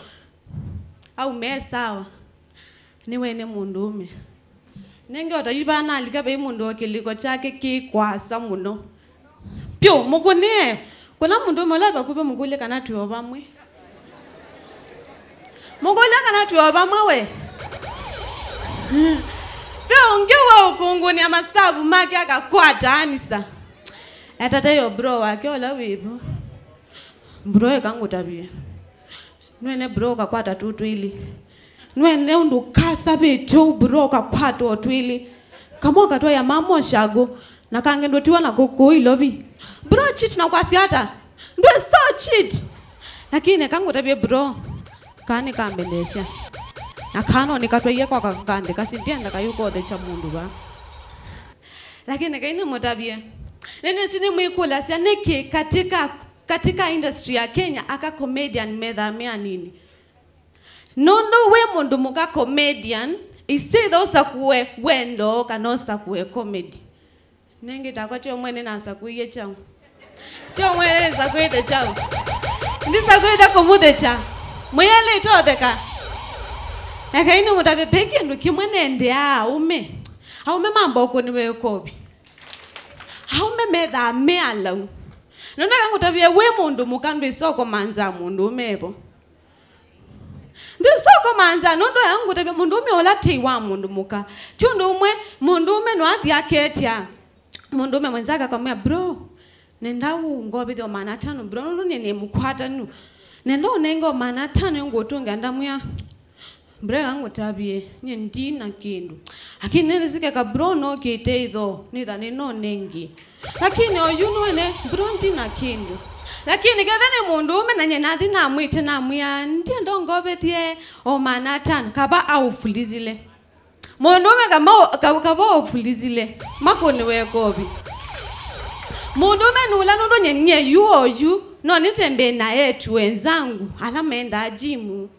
Aume sawa. Nĩwene mũndũũme. Nenge o ta yu vanalika vai mũndũ o kĩlĩko kyake kĩ kwasa mũno. Pyũ, mũkũnĩe. Kũna mũndũũme ũla vakuvĩ mũkũlye kana twĩ o vamwe. Mũkũlya kana twĩ o vamwe we. Ve ũngĩ we ũkũngũnĩa masavu make akakwata anisa. Etate yo bro wake ũla wĩ vo. Bro eka ngũtavye. Nwene bro ũkakwata tũ twĩlĩ. Nwene ũndũ kasavĩtye ũu bro ũkakwata o twĩlĩ. Kamwe ũkatwaĩa mama ũshagũ, na kangĩ ndũtiwa na kũkũũ ilovi. Bro cheat na kwasya ata? Ndwĩ so cheat. Lakini eka ngũtavye bro. Kaa nĩkambendeesya. Na kaa no nĩkatwaie kwa ka-, kandĩ kasi ndienda kayũkothekya mũndũ va. Lakini kai nĩmũtavye. Nĩnĩsĩ nĩmwĩkũlasya nĩkĩ katika, katika industry ya Kenya aka comedian methaa me anini. Nũndũ wĩ mũndũ mũka comedian, it's either ũsakũe wendo kana ũsakũe comedy. Nĩngĩ takwa tyo mwene nasakũie kyaũ. Tyo mwene nĩsakũĩte kyaũ. Ndisakũĩte kũmũthekya. Mwĩelĩte ũtheka. Ekai nĩmũtavye ve kĩndũ kĩmwe nendeaa aũme. Aũme mamba ũkũniwe ĩkovi. Aũme methaa me alau. Na ndaka ngũtavye wĩ mũndũ mũka ndwĩsa ũkomanza mũndũũme evo. Ndwĩsa ũkomanza, nũndũ aya ngũtavya mũndũũme ũla tei wa mũndũ mũka. Ti ũndũ ũmwe, mũndũũme no athi aketya mũndũũme mwenzake akamwĩa, "Bro, nenda ũngovithye o maana atano, bro, nũndũ nĩ nĩ mũkwatanu. Nenda ũnenge o maana atano ngũtũnga." Ndamwĩa, "Bro, eka ngũtavye, nyie ndi na kĩndũ. Lakini nĩnĩsikeka, bro, nokĩte itho, nĩtha nĩnonengie. Lakini oyu nũene, bro, ndi na kĩndũ." Lakini ketha nĩ mũndũũme na nyie nathi namwĩte, namwĩa, "Ndienda ũngovethye o maana atano," kava aũfulizile. Mũndũũme kama, ka-, kava ofulizile, makũniwe ĩkovi. Mũndũũme nũla nũndũ nye, nye yu oyu, no nĩtembee na etu wenzangu, ala mendaa jimu.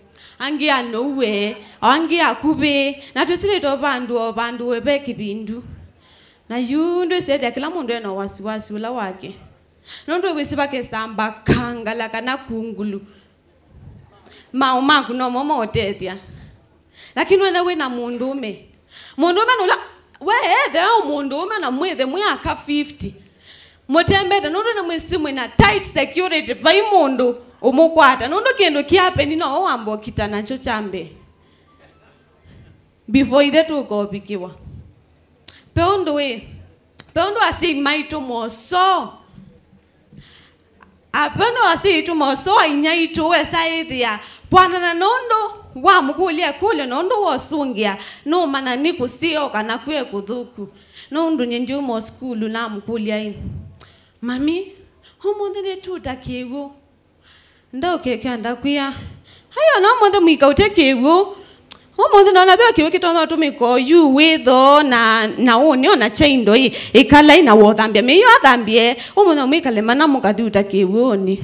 Angĩ anoue, o angĩ akuvĩ, na twĩsĩlĩte o vandũ, o vandũ we ve kĩvindu. Na yu ndwĩsethya kĩla mũndũ ena wasiwasi ũla wake. Nũndũ wĩsĩ vakesamba kangala kana kungulu. Maũ maku nomo maũtethya. Lakini wene wĩna mũndũũme. Mũndũũme nũla, we ethea ũ mũndũũme na mwĩthe mwĩ aka fifty. Mũtembete nũndũ nĩ mwĩsĩ mwĩna tight security, vai mũndũ ũmũkwata. Nũndũ kĩndũ kĩapeni no wamba ũkita nakyo kya mbee. Before ithe tũkovikĩwa. Pe ũndũ ĩ, pe ũndũ asyai maitũ mosoo. Apeno asyai aitũ mosoo, inyia aitũ wesa ĩthĩa kwanana nũndũ wamũkũlya ĩkũlyo, nũndũ wosũngĩa, nũmanya nĩ kũseo kana kwĩ kũthũku. Nũndũ nyie ndiuma o sukulu namũkũlya ĩ, "Mami, ũmũnthĩ nĩtuta kĩw'ũ?" Ndaũkekea ndakwĩa, "Ai, ona ũmũnthĩ mũika ũte kĩw'ũ." Ũmũnthĩ nona ve kĩw'ũ kĩtonya ũtũmĩka oyu wĩ thoo na, na ũnĩ ona kyaindo ĩ, ĩkalai na wothambya mĩio athambie. Ũmũnthĩ mwĩkale mana mũkathi ũta kĩw'ũnĩ.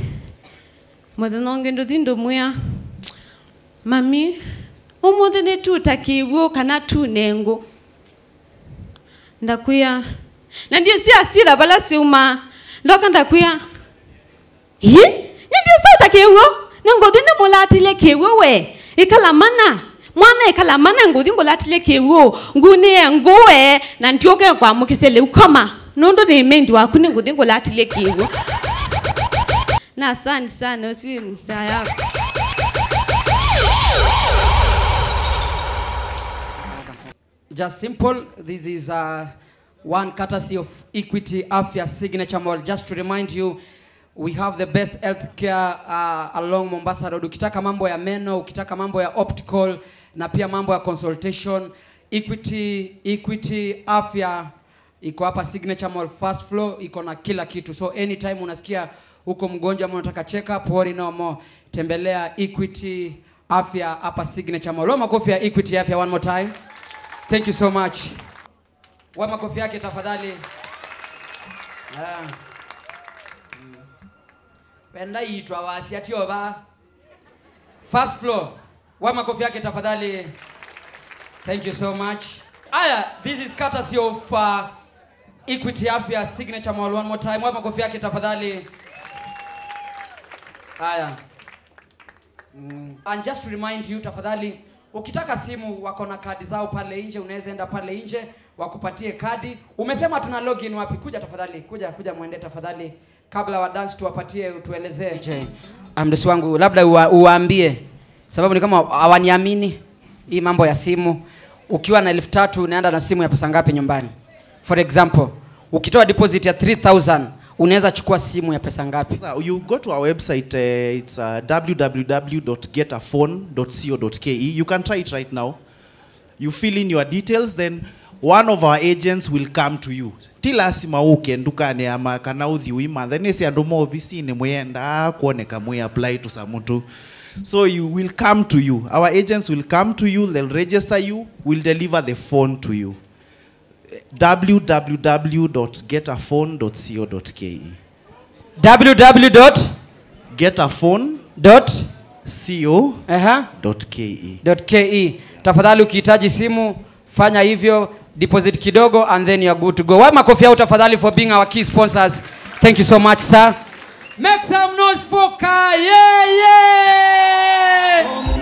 Mũthenya ũngĩ ndũthi ndũmwĩa, "Mami, ũmũnthĩ nĩtuta kĩw'ũ kana tune ngũ?" Ndakwĩa, na ndyĩsĩ asila vala syaumaa. Ndoka ndakwĩa, "Ĩ, nĩ ndyĩsa ũta kĩw'ũ, nĩ ngũthi nĩmũlatĩlye kĩw'ũ we. Ĩkala mana, mwana ĩkala mana, ngũthi ngũlatĩlye kĩw'ũ, ngunĩe ngũe, na ndyũke kwamũkĩsya lĩu koma, nũndũ nĩ mendi waku, nĩ ngũthi ngũlatĩlye kĩw'ũ." Na asante sana, ũsu nzaa yako. Just simple. This is, uh, one courtesy of Equity Afya Signature Mall. Just to remind you, we have the best healthcare, uh, along Mombasa Road. Ukitaka mambo ya meno, ukitaka mambo ya optical, na pia mambo ya consultation, Equity, Equity Afya iko hapa Signature Mall first floor, iko na kila kitu. So anytime unasikia uko mgonjwa ama unataka check up, worry no more. Tembelea Equity Afya hapa Signature Mall. Wa makofi ya Equity Afya one more time. Thank you so much. Wa makofi yake tafadhali. Ah. Mm. Wenda itwa wasia tio ba. First floor. Wa makofi yake tafadhali. Thank you so much. Aya, this is courtesy of, uh, Equity Afya Signature Mall. One more time. Wa makofi yake tafadhali. Aya. Mm. And just to remind you, tafadhali, ukitaka simu, wako na kadi zao pale nje, unaweza enda pale nje, wakupatie kadi. Umesema tuna login wapi? Kuja tafadhali, kuja, kuja mwende tafadhali, kabla wa dance tuwapatie, utuelezee. D J, ah, mdosi wangu, labda uwa-, uwaambie, sababu ni kama hawaniamini, hii mambo ya simu. Ukiwa na elfu tatu, unaenda na simu ya pesa ngapi nyumbani? For example, ukitoa deposit ya three thousand, unaweza chukua simu ya pesa ngapi? So you go to our website, uh, it's, uh, w w w dot get a phone dot co dot k e. You can try it right now. You fill in your details, then one of our agents will come to you. Ti lasima ũke ndukanĩ ya ma-, kana ũthi ũimanthe. Nĩsĩ andũ ma ovisinĩ mwĩendaa kwoneka mwĩ apply tũsamũ tũ. So you will come to you. Our agents will come to you, they'll register you, will deliver the phone to you. w w w dot get a phone dot co dot k e. W W W dot get a phone dot co dot k e. Aha. Dot k e. Dot k e. Tafadhali, ukihitaji simu, fanya hivyo, deposit kidogo, and then you are good to go. Wa makofi yao tafadhali for being our key sponsors. Thank you so much, sir. Make some noise for Kayeye.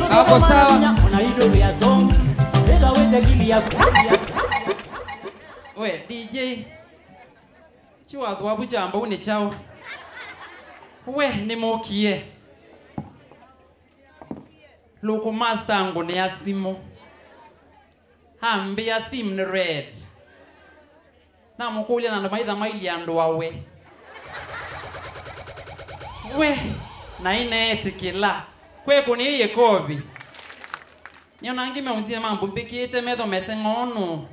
Hapo sawa. We, D J, chiwathũavu kya mbau nĩ kyaũ? We, nĩmũkie. Lũkũ master ngũnĩa simũ. Ambĩa theme nĩ red. Namũkũlya na andũ maitha mailyĩ andũ awe. We, na ĩneetĩkĩla. Kwekũnĩie kovi. Nĩona angĩ meũsie mambumbĩkĩte metho mese ng'ono.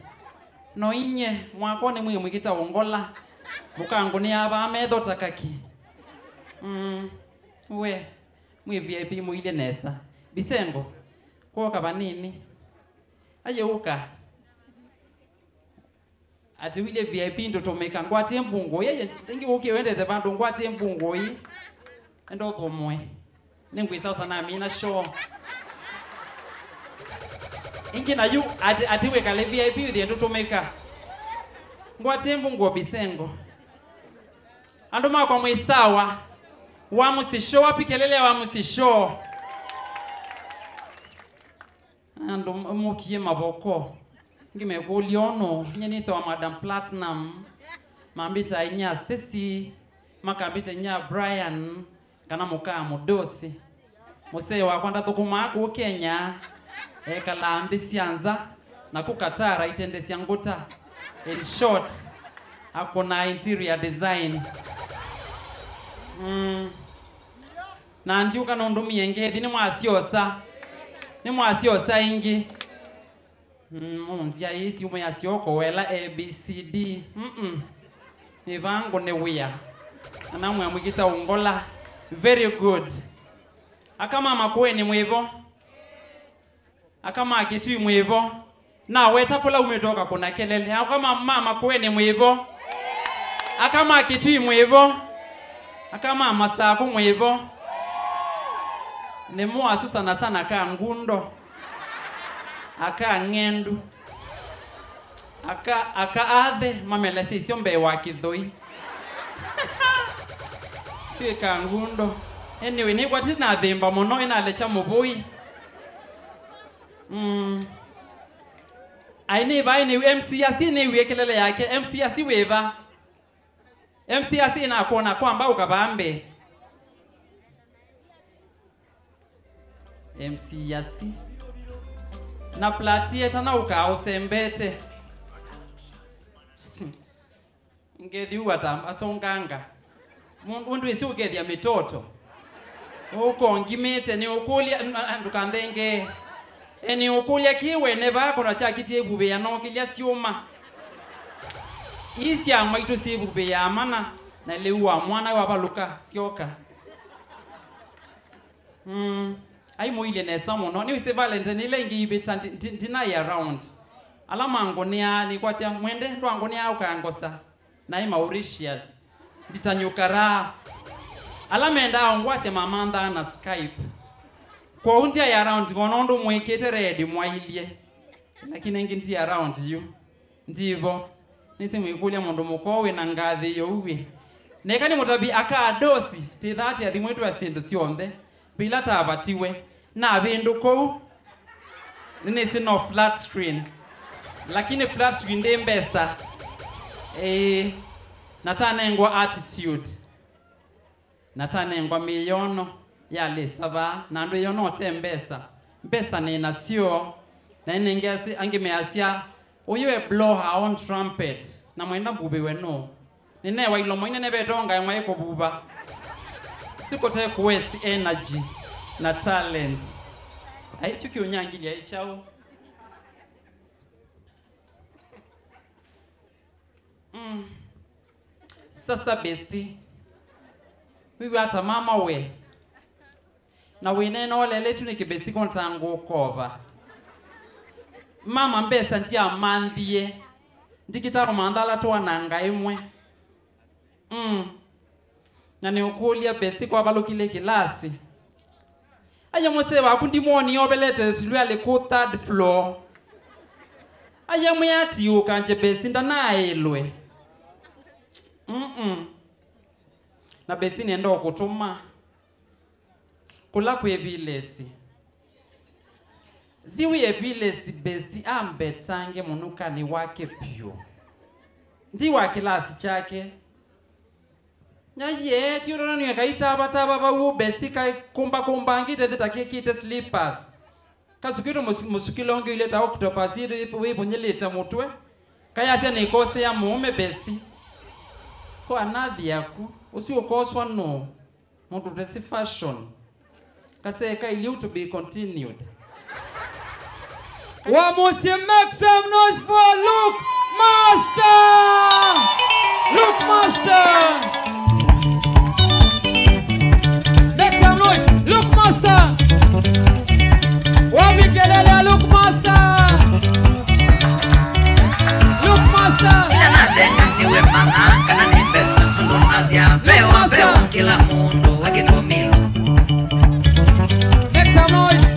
No inye, mwako nĩ mwĩ mwĩkĩta ũngola. Mũkangũnĩa vaa metho ta kaki. Mm, we, mwĩ V I P mũilye nesa. Bisengo, kwoka vanini. Ayeuka. Ati wĩlye V I P ndũtũmĩka, ngwatie mbungũi. Ĩngĩ ũkie wendete vandũ, ngwatie mbungũi. Enda ũthũmũe. Nĩngwĩsa ũsa namina show. Ĩngĩ na yu, ati, ati wĩkale V I P ũthie ndũtũmĩka. Ngwatie mbungũo Bisengo. Andũ makwa mwĩ sawa. Wa mũsisho, wapi kelele wa mũsisho? Andũ mũkie mavoko. Ngĩmekũlya ũnũ, nye nĩtawa Madam Platinum. Mambĩta inya Stacy, makambĩta inya Brian, kana mũkaa Mũdosi. Mũsee wakwa ndathũkũmaa kũu Kenya, ekalaa nthĩ sya nza, na ku Qatar aitendesya ngũta. In short, akũnaa interior design. Mm. Na ndiũka nũndũmie ngethi, nĩmwasyosa. Nĩmwasyosa ĩngĩ. Mm, mũnzia ii syumwa ya syoko wela A B C D. Mm-mm. Mĩvango nĩ wĩa. Ana mwĩa mwĩkĩta ũngola. Very good. Aka ma Makueni mwĩvo. Aka ma Kitui mwĩvo. Naweta kũla umĩte ũkakũna kelele. Aka ma, ma Makueni mwĩvo. Aka ma Kitui mwĩvo. Aka ma Masaku mwĩvo. Nĩ mwasu sana sana ka ngundo. Aka ng'endu. Aka, aka athe mamelesya isyo mbee wa kĩthũi. Syĩ ka ngundo. Anyway, nĩkwati nathĩmba mũno, ĩnalekya mũvũi. Mm. Ai, nĩ vai nĩ M C asi nĩwie kelele yake. M C asi wĩva? M C asi nakwona kwamba ũkavambe. M C asi. Na platie tana ũkaa ũsembete. Ngethi ũwata asonganga. Mũndũ ndwĩsĩ ũkethya mĩtoto. Ũkongimĩte nĩ ũkũlya, n-, a-, ndũkanthengee. E, nĩ ũkũlya kĩ wene vaa kona kyakitie ivuvĩa no kĩlya syũma. Ii sya maitũ syĩvuvĩaa mana, na lĩu wa mwana wavalũka syoka. Mm. Ai mũilye nesa mũno. Nĩwĩsĩ Valentine ĩla ĩngĩ ivĩta ndi-, ndi-, ndinai around. Ala mangũnĩaa nĩkwatya mwende ndwangũnĩaa ũkangosa. Naĩ Mauritius. Nditanyũkaraa. Ala mendaa ũngwatya mamanthaa na Skype. Kwoou ndyaĩ around ngona ũndũ mwĩkĩte ready mwailye. Lakini ĩngĩ ndi around yu. Ndivo. Nĩsĩ mwĩkũlya mũndũ mũkoo wĩ na ngathĩ yo uwĩ. Neka nĩ mũtavi aka Adosi, tĩthaa tĩathimwĩtwe syĩndũ syonthe. Vila tavatiwe. Navĩndũ kũu. Nĩnĩsĩ no flat screen. Lakini flat screen ndĩ mbesa. Ĩĩ. Na tanengwa attitude. Na tanengwa mĩyono ya lĩsa vaa, na andũ ĩyono ũte mbesa. Mbesa nĩ nasyo. Na ĩnĩ ngeasĩ, angĩ measya, "Ũyũ e blow her own trumpet." Na mwenda mbuvĩwe nũ? Nĩnewa ilomo inene vetongae mwaĩ kũvuva. Sikũte kũ waste energy na talent. Aityu kĩũnyangilya ĩ kyaũ? Mm. Sasa besti. Wĩw'a ata mama we? Na wĩneena ũleletu nĩkĩ besti kũntaa ngũkova? Mama mbesa ndiamanthie. Ndikĩtaa kũmantha ala twananga ĩmwe. Mm. Na nĩũkũlya besti kwavalũkile kĩlasi. Aya mũsee waku ndimwonie ovelete suruali kũ third floor. Aya mwĩatiũka nje besti ndanaĩlwe. Mm-mm. Na besti nĩenda ũkũtũma. Kũla kwĩ vilesi. Thi wĩe vilesi besti ambetange mũnukanĩ wake vyũ. Ndi wa kĩlasi kyake. Nyaiye, ti ũndũ nĩwe kaitavatava vau, besti kakumbakumbangĩte thĩ ta kĩkĩte slippers. Kasukĩtwe mũsu-, mũsukĩlo ũngĩ ũilye ta octopus, ĩ-, wĩvũnyĩlĩte mũtwe. Kayasya nĩkosea mũũme besti. Kwa nathi yaku, ũsu ũkoswa nũũ? Mũndũ ũtesi fashion. Kasee kailiu to be continued. Wa mũsyĩ, make some noise for Luke Master! Luke Master! Make some noise, Luke Master! Wapi kelele ya Luke Master? Luke Master! Ĩla nathenga nĩwe mana kana nĩ mbesa, nũndũ nasya, "Mbewa, mbewa, kĩla mũndũ akĩtũmĩlwa." Make some noise.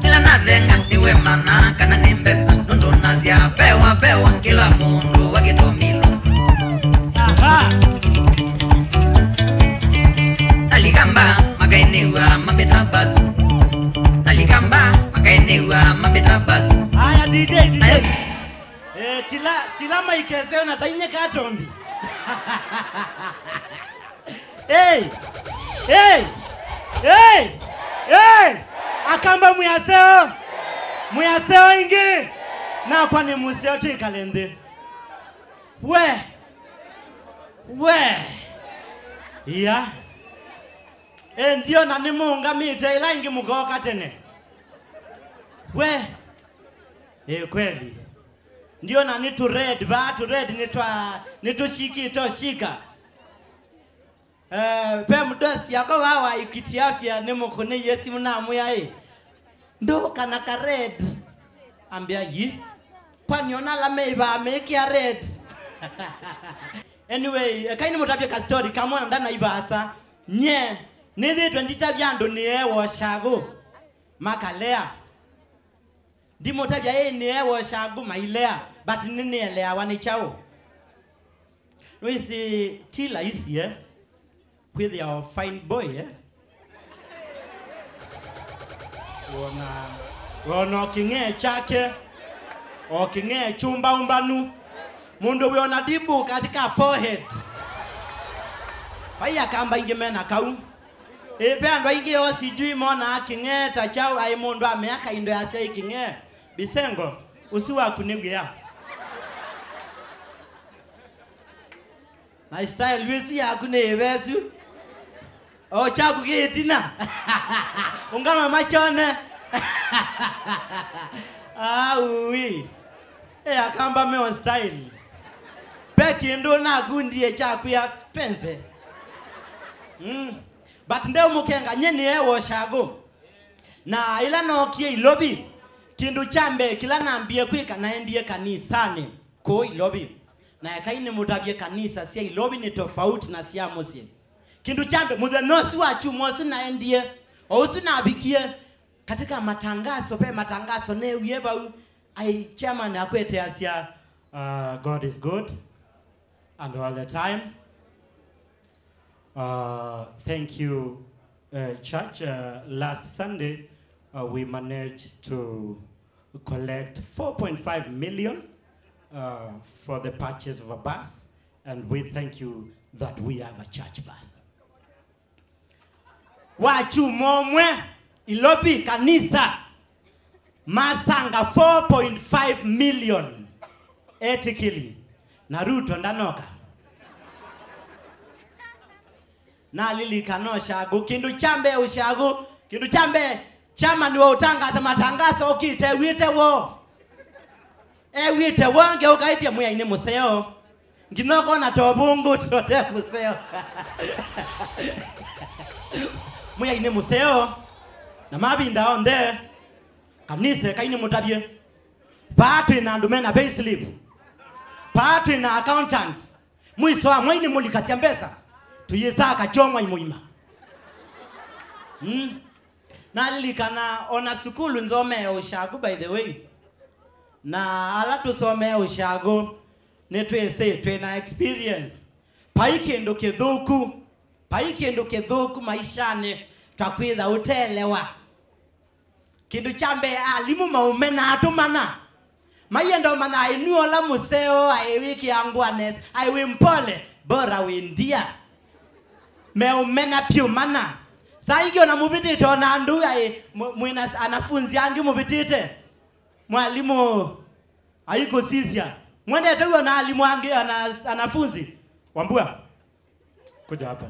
Ĩla nathenga nĩwe mana kana nĩ mbesa, nũndũ nasya, "Mbewa, mbewa, kĩla mũndũ akĩtũmĩlwa." Aha. Nalikamba makainĩwa mambĩta basu. Nalikamba makainĩwa mambĩta basu. Aya, D J, D J. Nayo Eh, tila, tila maikeseo na tainye katombi. Hey! Hey! Hey! Hey! Akamba mwĩaseo. Mwĩaseo ingĩ. Nakwa nĩ mũseo twĩkale nthĩ. We. We. Ia. Eh, ndiona nĩmũũngamĩte ĩla ingĩ mũkooka tene. We. Eh, kweli. Ndiona nĩ tũ red vaa, tũ red nĩ twa, nĩ tũshikĩte ũshika. Eh, ve mdosi yakwa vaa wa Equity Afya nĩmũkũnĩie simũ namwĩa ĩ, "Ndũka na ka red." Ambĩa, "Yi? Kwani ona ala meĩvaa mekĩa red?" Anyway, ekai nĩmũtavye ka story kamwe na ndanaivaasa. Nye, nĩthĩĩtwe nditavya andũ nĩeewa ũshagũ. Makalea. Ndimũtavya ĩ nĩeewa ũshagũ mailea, but nĩnĩeleawa nĩ kyaũ. Nĩwĩsĩ ti laisi, eh? Kwĩthĩa o fine boy, eh? Wona, wona o kĩng'ee kyake, o kĩng'ee kyũmbaũmbanu. Mũndũ wĩona dimbu katika forehead. Vai akamba ingĩ mena kau. Ĩ, ve andũ aingĩ o sijui monaa kĩng'ee ta kyaũ, aĩ mũndũ amea kaindo yasya ĩ kĩng'ee. Bisengo, ũsu waku nĩ wĩa. Na style ĩsu yaku nĩ ĩvesu. O kyaku kĩ ĩtina. Ũngama machone. Aui. Ĩ, akamba me on style. Ve kĩndũ nakundie kyaku ya penze. Mm. But ndeũmũkenga, nye nĩeewa ũshagũ. Na ĩla nookie Ilovi, kĩndũ kya mbee kĩla nambie kwĩka, naendie kanisanĩ kũu Ilovi. Na ekai nĩmũtavye, kanisa sya Ilovi nĩ tofauti na sya mũsyĩ. Kĩndũ kya mbee, mũthenya ũsu wa kyumwa ũsu naendie, o ũsu navikie, katika matangazo, ve matangazo neewie vau, ai chairman akweteasya, uh, God is good and all the time. Uh, thank you, uh, church. Uh, last Sunday, uh, we managed to collect four point five million, uh, for the purchase of a bus, and we thank you that we have a church bus. Wa kyumwa ũmwe, Ilovi kanisa masanga four point five million etĩkĩli, na Ruto ndanoka. Nalilikana ũshagũ, kĩndũ kya mbee ũshagũ, kĩndũ kya mbee chairman wa ũtangaza matangazo ũkĩte ew'ĩte woo. Ew'ĩte woo, ngeũkaĩtye Mwĩai nĩ mũseo. Nginya ũkona tovũngũ tote mũseo. Mwĩai nĩ mũseo. Na mavinda onthe, kanisa ekai nĩmũtavye. Vaa twĩ na andũ mena payslip. Vaa twĩ na accountants. Mwiso wa mwai nĩmũlikasya mbesa. Tũyĩsaa kakyong'wa imũima. Mm. Nalilikana ona sukulu nzomee ũshagũ, by the way. Na ala tũsomee ũshagũ, nĩtwĩsĩ twĩ na experience. Vai kĩndũ kĩthũku, vai kĩndũ kĩthũku maishanĩ ta kwĩtha ũteelewa. Kĩndũ kya mbee, alimũ maũme na atũmana. Maienda ũmanya aĩ nue ũla mũseo, aĩ wĩkĩa ngũa nesa, aĩ wĩ mpole, bora wĩ ndia. Meũmena pyũ mana. Saa ingĩ ona mũvĩtĩte ona andũ aĩ mũ-, mwĩna s-, anafunzi angĩ mũvĩtĩte. Mwalimũ aikũsisya. Mwendete w'o na alimũ angĩ ana-, anafunzi. Wambua. Kuja hapa.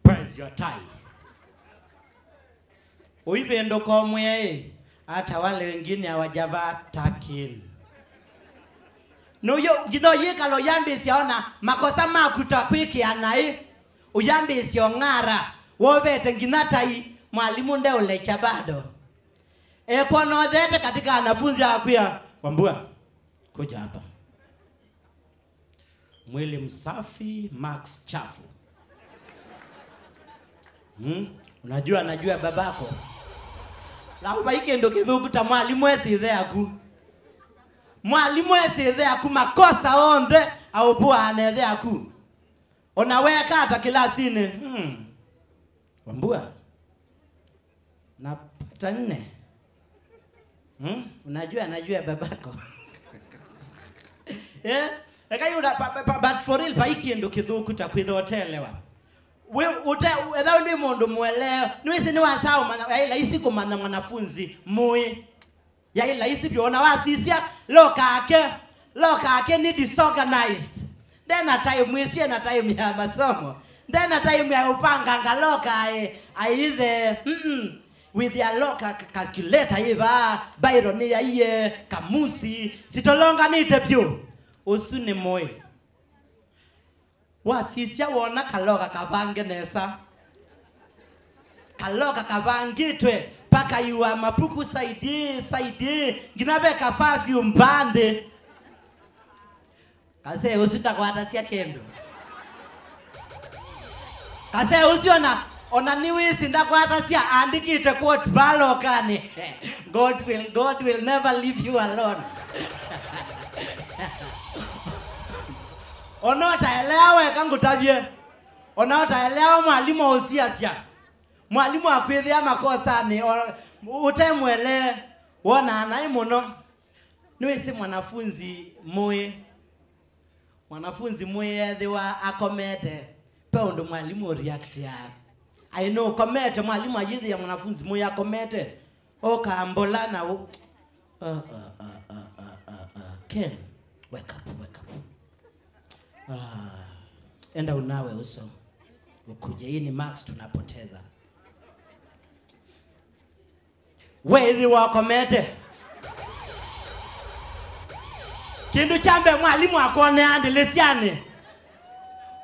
Where's your tie? Ũivĩndũka ũmwĩe, "Hata wale wengine hawajavaa tuck in." Nũyũ, nginya ũyĩkala ũyambĩĩsya ona makosa maku ta kwĩkĩa naĩ. Ũyambĩĩsya ũng'ara, wovete nginya tai, mwalimũ ndeũlecha bado. Ekwona ũtheete katika anafunzi akwĩa, "Wambua, kuja hapa." Mwili msafi, marks chafu. Hmm? Unajua, najua babako. Lau vai kĩndũ kĩthũku ta mwalimũ esĩ ĩthe yaku. Mwalimũ esĩ ĩthe yaku, makosa onthe aũvũaa na ĩthe yaku. Ona weka ata kĩlasinĩ. Hmm. Wambua. Napata nne. Hmm? Unajua, najua babako. Eh? Eka yu na-, pa-, pa-, pa-, but for real, vai kĩndũ kĩthũku ta kwĩtha ũteelewa. We, ũte, etha ndĩ mũndũ mũelewa. Nĩwĩsĩ nĩwakya ũmanya, yaĩ laisi kũmanya mwanafunzi mũĩ. Yaĩ laisi vyũ, ona wasisya, loka ake, loka ake nĩ disorganized. Ndena time ĩsu, ena time ya masomo. Ndena time ya ũpanganga loka aĩ, aithe. Mm-mm. With your loka ca-, calculator ĩva, bairo nĩ yaiye, kamusi, sitolonganĩte vyũ. Ũsu nĩ mũĩ. Wasisya wona kaloka kavange nesa. Kaloka kavangĩtwe, pakaiwa mapuku side ĩĩ, side ĩĩ, nginya ve ka perfume va nthĩ. Kasee ũsu ndakwatasya kĩndũ. Kasee ũsu ona, ona nĩwĩsĩ ndakwatasya, andĩkĩte quote va lokanĩ. God will, God will never leave you alone. Ona ũtaelea weka ngũtavye. Ona ũtaelea mwalimũ ũsiasya. Mwalimũ akwĩthĩa makosanĩ, o-, ũtemũelee, wonaa naĩ mũno. Nĩwĩsĩ mwanafunzi mũĩ. Mwanafunzi mũĩ ethĩwa akomete, ve ũndũ mwalimũ ũreactĩaa. Aĩ nũkomete, mwalimũ ayĩthĩa mwanafunzi mũĩ akomete. Oka mbola na ũ-, uh, uh, uh, uh, uh, uh, uh. Ken, wake up, wake up. Ah, enda unawe uso. Ukuje, hii ni marks tunapoteza. Wethi wakomete. Kĩndũ kya mbee mwalimũ akonea ndĩlĩsyanĩ.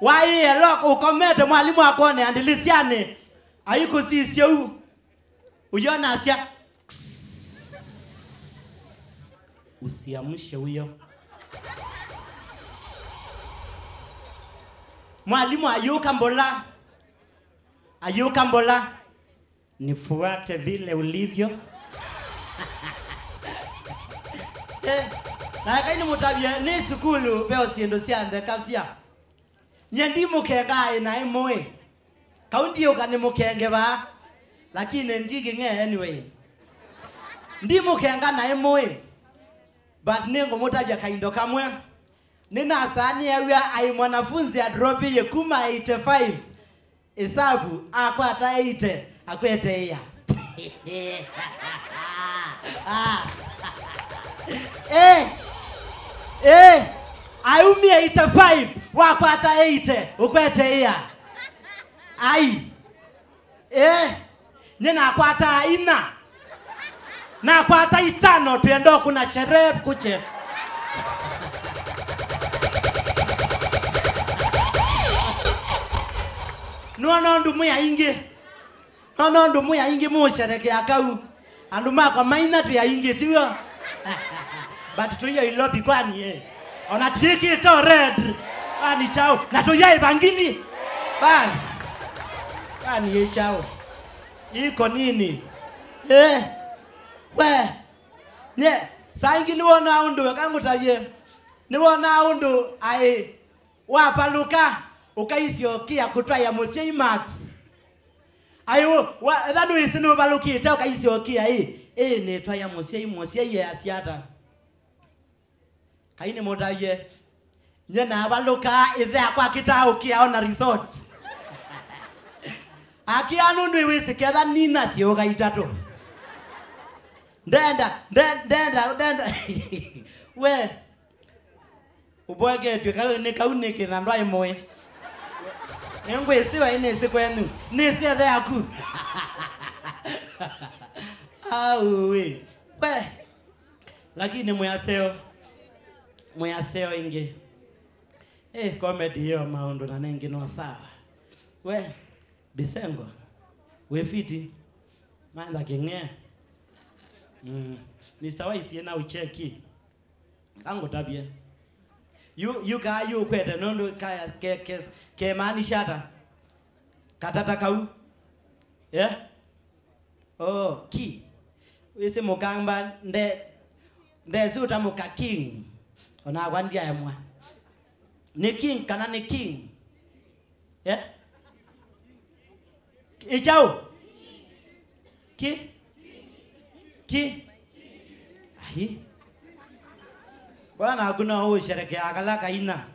Waĩe loka ũkomete, mwalimũ akonea ndĩlĩsyanĩ. Aikũsisya ũu. Ũyonasya, "Kss, usiamshe huyo." Mwalimũ ayũka mbola. Ayũka mbola. "Nifuate vile ulivyo." Eh, na eka nĩmũtavye, nĩ sukulu veo syĩndũ sya nthekasya. Nye ndi mũkenga aĩ naĩ mũĩ. Kau ndiũka nĩ mũkenge vaa. Lakini ndi kĩng'e anyway. Ndi mũkenga naĩ mũĩ. But nĩngũmũtavya kaindo kamwe. Nĩnasaa nĩew'a aĩ mwanafunzi adropie kuma eighty-five. Ĩsavu, akwata eighty, akwete ĩa. Ah. Eh. Eh. Aumie eighty-five, wakwata eighty, ũkwete ĩa. Ai. Eh. Nye nakwataa ina. Nakwata itano, twĩenda ũkũna sherehe kuche. Nona ũndũ mwĩ aingĩ. Nona ũndũ mwĩ aingĩ mũsherekea kau. Andũ makwa maina twĩ aingĩ, tiw'o? But tũiyo ilopi kwani, eh? Ona twĩkĩte o red. Kwani chao. Na tũiyo ivangili. Bas. Kwani ĩ chao. Iko nini? Eh? We. Nye, saa ingĩ nĩwonaa ũndũ, eka ngũtavye. Nĩwonaa ũndũ aĩ wavalũka, ũkaisyokia kũtwaĩa mũsyai Max. Aĩ, wa, etha nĩwĩsĩ nũvalũkĩte, ũkaisyokia ĩ. Ĩ nĩtwa ya mũsyai, mũsyai easya ata? Kai nĩmũtavye. Nye navalũkaa ĩthe akwa akĩtaa ũkĩa ona results. Akĩa nũndũ ĩwĩsĩ ketha nina syĩũka itatũ. Ndenda, nde-, ndenda, ndenda. We. Ũboeketw'e kau nĩ kau nĩkĩ na ndwaĩ mũĩ? Nĩngwĩsĩ waĩ nĩsĩ kwenyu. Nĩsĩ ethe yaku. Auĩ. We. Lakini mwĩaseo. Mwĩaseo ĩngĩ. Eh, comedy yo maũndũ na nengĩ no sawa. We. Bisengo. Wĩ fiti. Mantha kĩng'e. Mm. Mister Wise, ena ucheki. Kangũtavye. Yu, yu kaa yu ũkwete nũndũ kaya ke, ke, kemaanisha ata? Katata kau. Eh? Oh, ki. Wĩsĩ mũkamba nde, ndesĩ ũtamũka king. Onakwa ndyaemwa. Nĩ king kana nĩ king? Eh? Ĩ kyaũ? Ki? Ki? Ai. Mbona naku no ũsherekea kala kaina?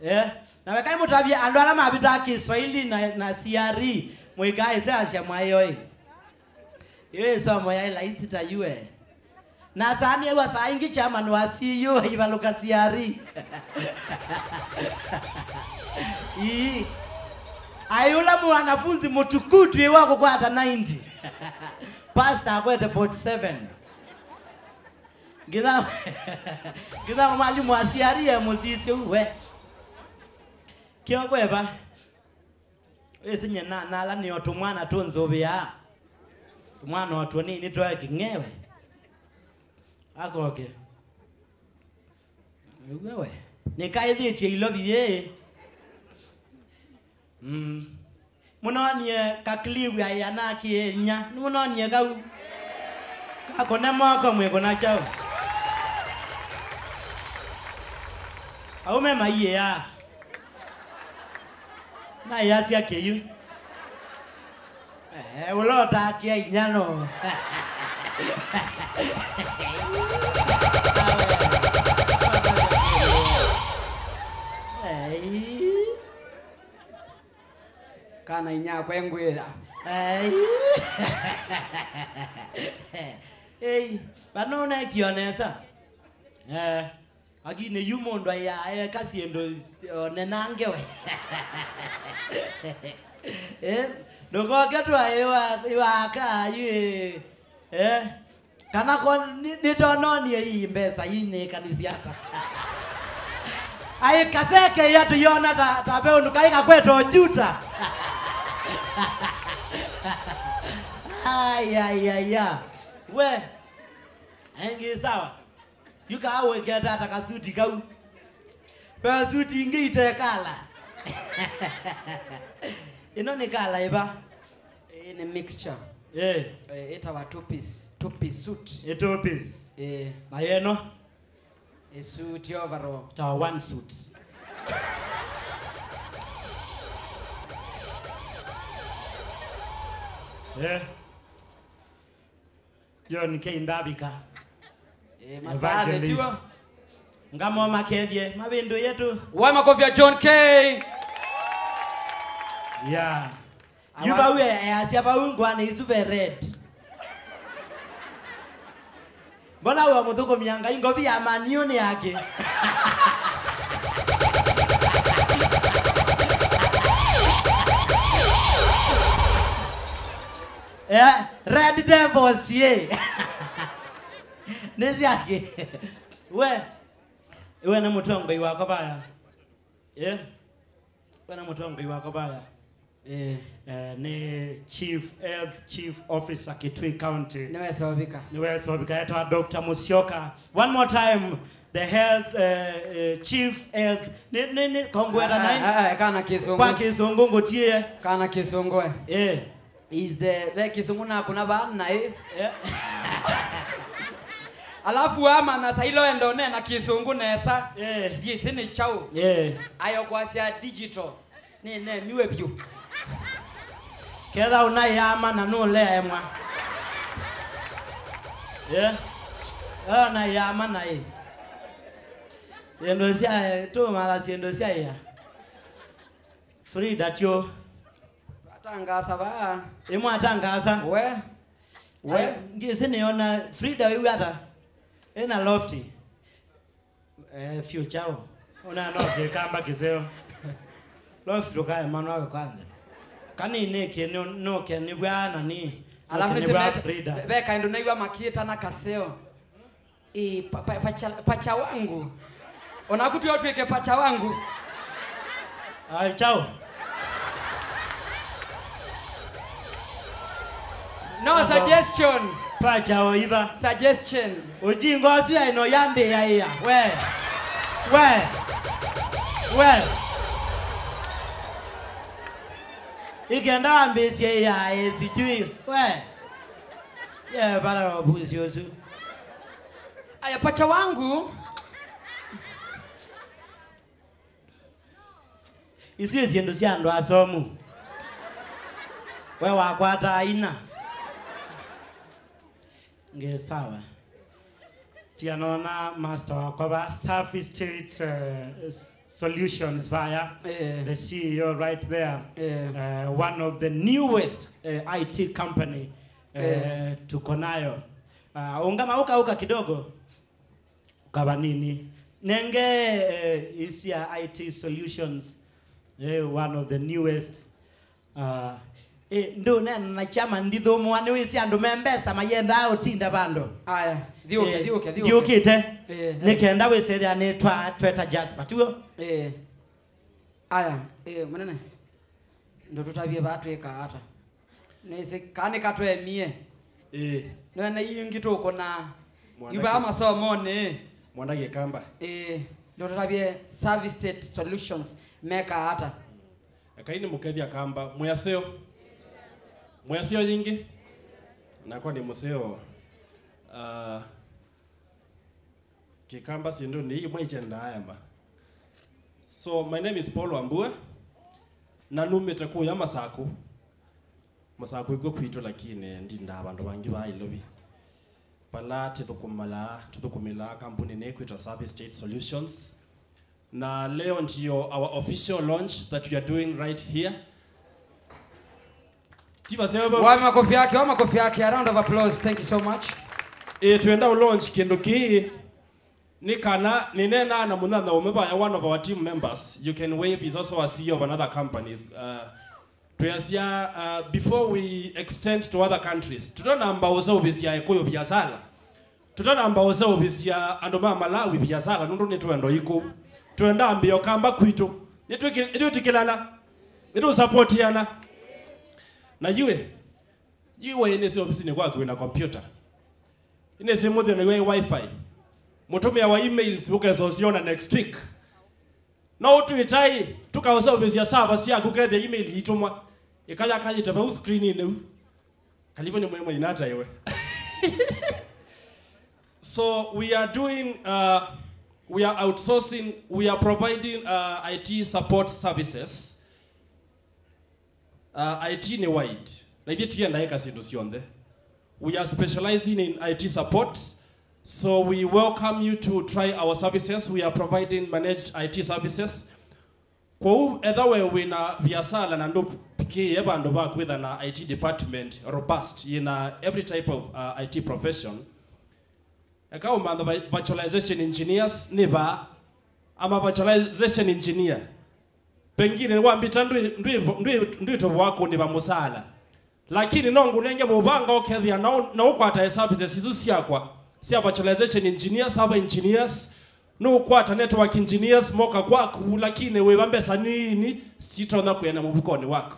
Eh? Na wekai mũtavye andũ ala mavitaa Kiswahili na, na C R E, mũikaĩse asya mwaĩoi. Ĩyo ĩsomo yaĩ laisi ta yue. Na saa nĩew'a saa ingĩ chairman wa C U aivalũka C R E. Ii. Ai ũla mwanafunzi mũtukutu ĩwa kũkwata ninety. Pastor akwete forty seven. Nginya, nginya mwalimu wa C R E e mũsisyo we. Kĩo kweva. Wĩsĩ nyie na, nala nĩo tũmwana tũnzũvĩaa. Tũmwana o tũnini twae kĩng'ewe. Akoke. Wewe. Nĩkaĩthĩtye ilovi yĩĩ. Mm. Mũnonie kaklivu aĩ anakĩe inya. Nĩmũnonie kau. Kakũne moko mwĩkũna kyaũ. Aume maiĩaa. Naĩasya kĩyu. Eh, ũla ũtakĩa inya no. Ei. Kana inyakwa engwĩtha. Ei. Ei, vano ũnekio nesa. Eh. Lakini yu mũndũ aya eka syĩndũ one na ngewe. Eh, ndũkoke twaĩwa aka yu ĩ. Eh, kana ko nĩ- nĩtononie ii mbesa ii nĩkanĩsya ata. Aĩ kaseke ya tũyona ta, ta ve ũndũ kaĩ kakweta ũjuta. Ai, ai, ai, ya. We, engĩ sawa. Yu kaa wĩkĩte ata kasuti kau? Ve suti ingĩ ite kala. Ĩno nĩ kala ĩva? Ĩĩ nĩ mixture. Eh. Eh, ĩtawa two piece, two piece suit. Ĩ two piece. Eh. Na yeno? Ĩ suit overall. Ta one suit. Eh. John K Ndavika. Eh, masaa nĩ tiwa. Evangelist. Ngamo makethie mavĩndũ yetu. Waĩ makofi ya John K. Yeah. Awa- Yu vau e- easya vau ngwana isu ve red. Mbona wa mũthũkũmia Ngai ngovi ya Man U nĩ yake? Eh, Red Devils, ye. Nĩ syake. We, we nĩ mũtongoi wakwa vaya. Eh? We nĩ mũtongoi wakwa vaya. Eh. Eh, nĩ Chief Health, Chief Officer Kitui County. Nĩwesovika. Nĩwesovika, etwa Doctor Musyoka. One more time, the health, eh, eh, Chief Health. Nĩ, nĩ, nĩ, kongweta nai? Ah, ah, ah, kana kĩsũngũ. Kwa kĩsũngũ ngũtie. Kana kĩsũngũ, eh. Eh. Is the, ve kĩsũngũ nakũna vaa naĩ. Eh. Alafu amanya sailo enda ũneena kĩsũngũ nesa. Eh. Ndiĩsĩ nĩ kyaũ. Eh. Ayo kwasya digital. Nĩnemiwe vyũ. Ketha ũnaĩ amanya nũleemwa. Yeah. Ona yama na ĩ. Syĩndũ sya, tũmatha syĩndũ sya ĩa. Frida tyo. Atangaasa vaa. Ĩmwe atangaasa. We. We. Ai, ngĩsĩ nĩona Frida wĩw'a ata? Ĩna lofty. Eh, future. Ona no kĩkamba kĩseo. Lofty tukae mwana we kwanza. Kani nĩkĩ nũke nĩw'a nani? Alafu nũke nĩw'a nĩsĩ Frida. Ve kaĩndũ naĩw'a makĩtana kaseo. Ĩ, pa, pa, pacha, pacha wangu. Onaku twĩ o twĩke pacha wangu. Ai, chao. No, suggestion. Pacha oiva. Suggestion. Ujinga ũsu aino yambĩĩa ĩa. We. We. We. Ikenda wambĩĩsye ĩa, ĩ, sijui. We. Ye, para obusi ũsu. Aya, pacha wangu. Isu nĩ syĩndũ sya andũ asomu. We wakwata aina. Nge sawa. Tia nona master wakwa va Safi State, uh, Solutions vaya. Eh. The C E O right there. Eh. Uh, one of the newest, uh, I T company, uh, eh, tuko nayo. Uh, ungama uka uka kidogo. Kavanini. Nenge, eh, isi ya I T Solutions, eh, one of the newest. Uh, eh, ndũneena na kyama ndithũmũa, nĩwĩsĩ andũ me mbesa mayendaa ũtinda vandũ. Aya, thiũke, eh, thiũke, thiũke. Ndiũkĩte. Eh, eh. Nĩkenda wĩsethĩa nĩ twa tweta Jasper, tiw'o? Eh. Aya, eh, mũnene. Ndũtũtavye vaa twĩkaa ata? Nĩsĩ kana nĩkatwemie. Ĩĩ. Nĩwene ingĩ tũkũna. Mwanake. Ivaa masomonĩ. Mwanake Kamba. Ĩĩ. Ndũtũtavye Service State Solutions mekaa ata? Ekai nĩmũkethya Kamba. Mwĩaseo. Mwĩaseo yingĩ. Nakwa nĩ mũseo. Ah, Kĩkamba syĩndũnĩ ii imwe ikyendaa ema. So, my name is Paul Wambua, na numĩte kũya Masakũ. Masakũ ĩkw'o kwitũ, lakini ndindaa vandũ vangĩ vaa Ilovi. Vala tũthũkũmĩlaa, tũthũkũmĩlaa kambuni nĩ kwĩtwa Service State Solutions. Na leo ndio our official launch that we are doing right here. Tiva seo. Wa makofi yake, wa makofi yake, a round of applause. Thank you so much. Eh, twenda u launch kĩndũ kĩĩ. Nĩ kana, nĩneenaa na mũnyanya ũmwe vaya, one of our team members, you can wave, is also a C E O of another company. Uh, twĩasya, uh, before we extend to other countries, tũtanamba ũseũvĩsya Ekũyũ viasala. Tũtanamba ũseũvĩsya andũ ma Malawi viasala, nũndũ nĩ twendo ikũ. Twenda mbĩo Kamba kwitũ. Nĩtwĩkĩ-, nĩtwĩtĩkĩlana. Nĩtũsapotiana. Na yuĩ, yuĩ nĩsĩ ovisinĩ kwaku wĩna kompyuta. Nĩsĩ mũthĩ naiwe wifi. Mũtũmĩa wa emails ũkesa ũsiona next week. No ũtwĩtaĩ, tũkaũseũvĩsya server syaku kethĩa email iitũmwa. Ĩkaya kayĩte vau screeninĩ u. Kalivo nĩ mwemwe inata iwe. So we are doing, uh, we are outsourcing, we are providing, uh, I T support services. Uh, I T nĩ wide. Na ithyĩ tũiendaa ĩka syĩndũ syonthe. We are specializing in I T support. So we welcome you to try our services. We are providing managed I T services. Kwoou, etha we wĩna viasala na ndũvikĩĩe vandũ va kwĩtha na I T department robust yĩna every type of, uh, I T profession, eka ũmantha vi-, virtualization engineers nĩ vaa. I'm a virtualization engineer. Pengine wambita ndwĩ, ndwĩ, ndwĩ, ndwĩtovoa kũndĩva mũsaala. Lakini no ngũnenge mũvanga ũkethĩa na ũ-, na ũkwata services isu syakwa sya virtualization engineer, server engineers, nũkwata network engineers, moka kwaku, lakini wĩva mbesa nini sitonya kwĩana mũvukonĩ waku.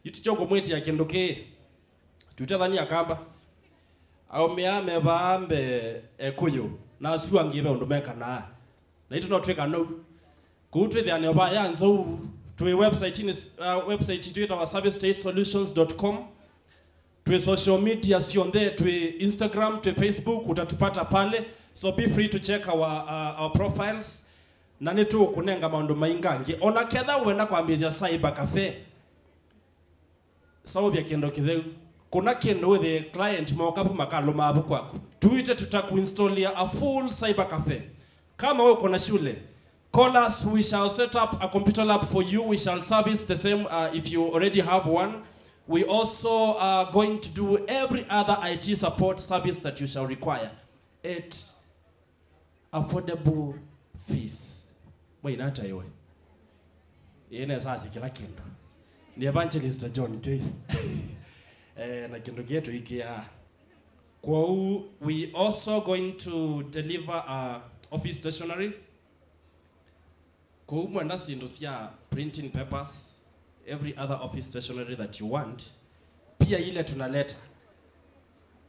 Yu tikyo kũmwĩtĩa kĩndũ kĩĩ. Tutethani Akamba. Aũmĩa me vaa mbee Ekũyũ, na asu angĩ ve ũndũ mekanaa. Na itũ no twĩka nou. Kũu twĩthĩanĩo va ya nzou, twĩ website-inĩ, uh, website itũ ĩtawa service state solutions dot com. Twĩ social media syonthe, twĩ Instagram, twĩ Facebook, utatupata pale. So be free to check our, uh, our profiles. Na nĩtũkũnenga maũndũ maingĩ angĩ. Ona ketha wenda kwambĩĩsya cyber cafe, saũvya kĩndũ kĩtheu. Kuna kĩndũ wĩthĩe client moka pu makalũma avu kwaku. Tuite tutakuinstallia a full cyber cafe. Kama we uko na shule, call us, we shall set up a computer lab for you, we shall service the same, uh, if you already have one. We also are going to do every other I T support service that you shall require at affordable fees. Mwaina ata iwe? Ĩĩ, nesa asi kĩla kĩndũ. Nĩ Evangelist John K. Eh, na kĩndũ kĩĩ tũikĩaa. Kwoou, we also going to deliver a office stationery. Kwoou mwenda syĩndũ sya printing papers, every other office stationery that you want, pia ile tunaleta.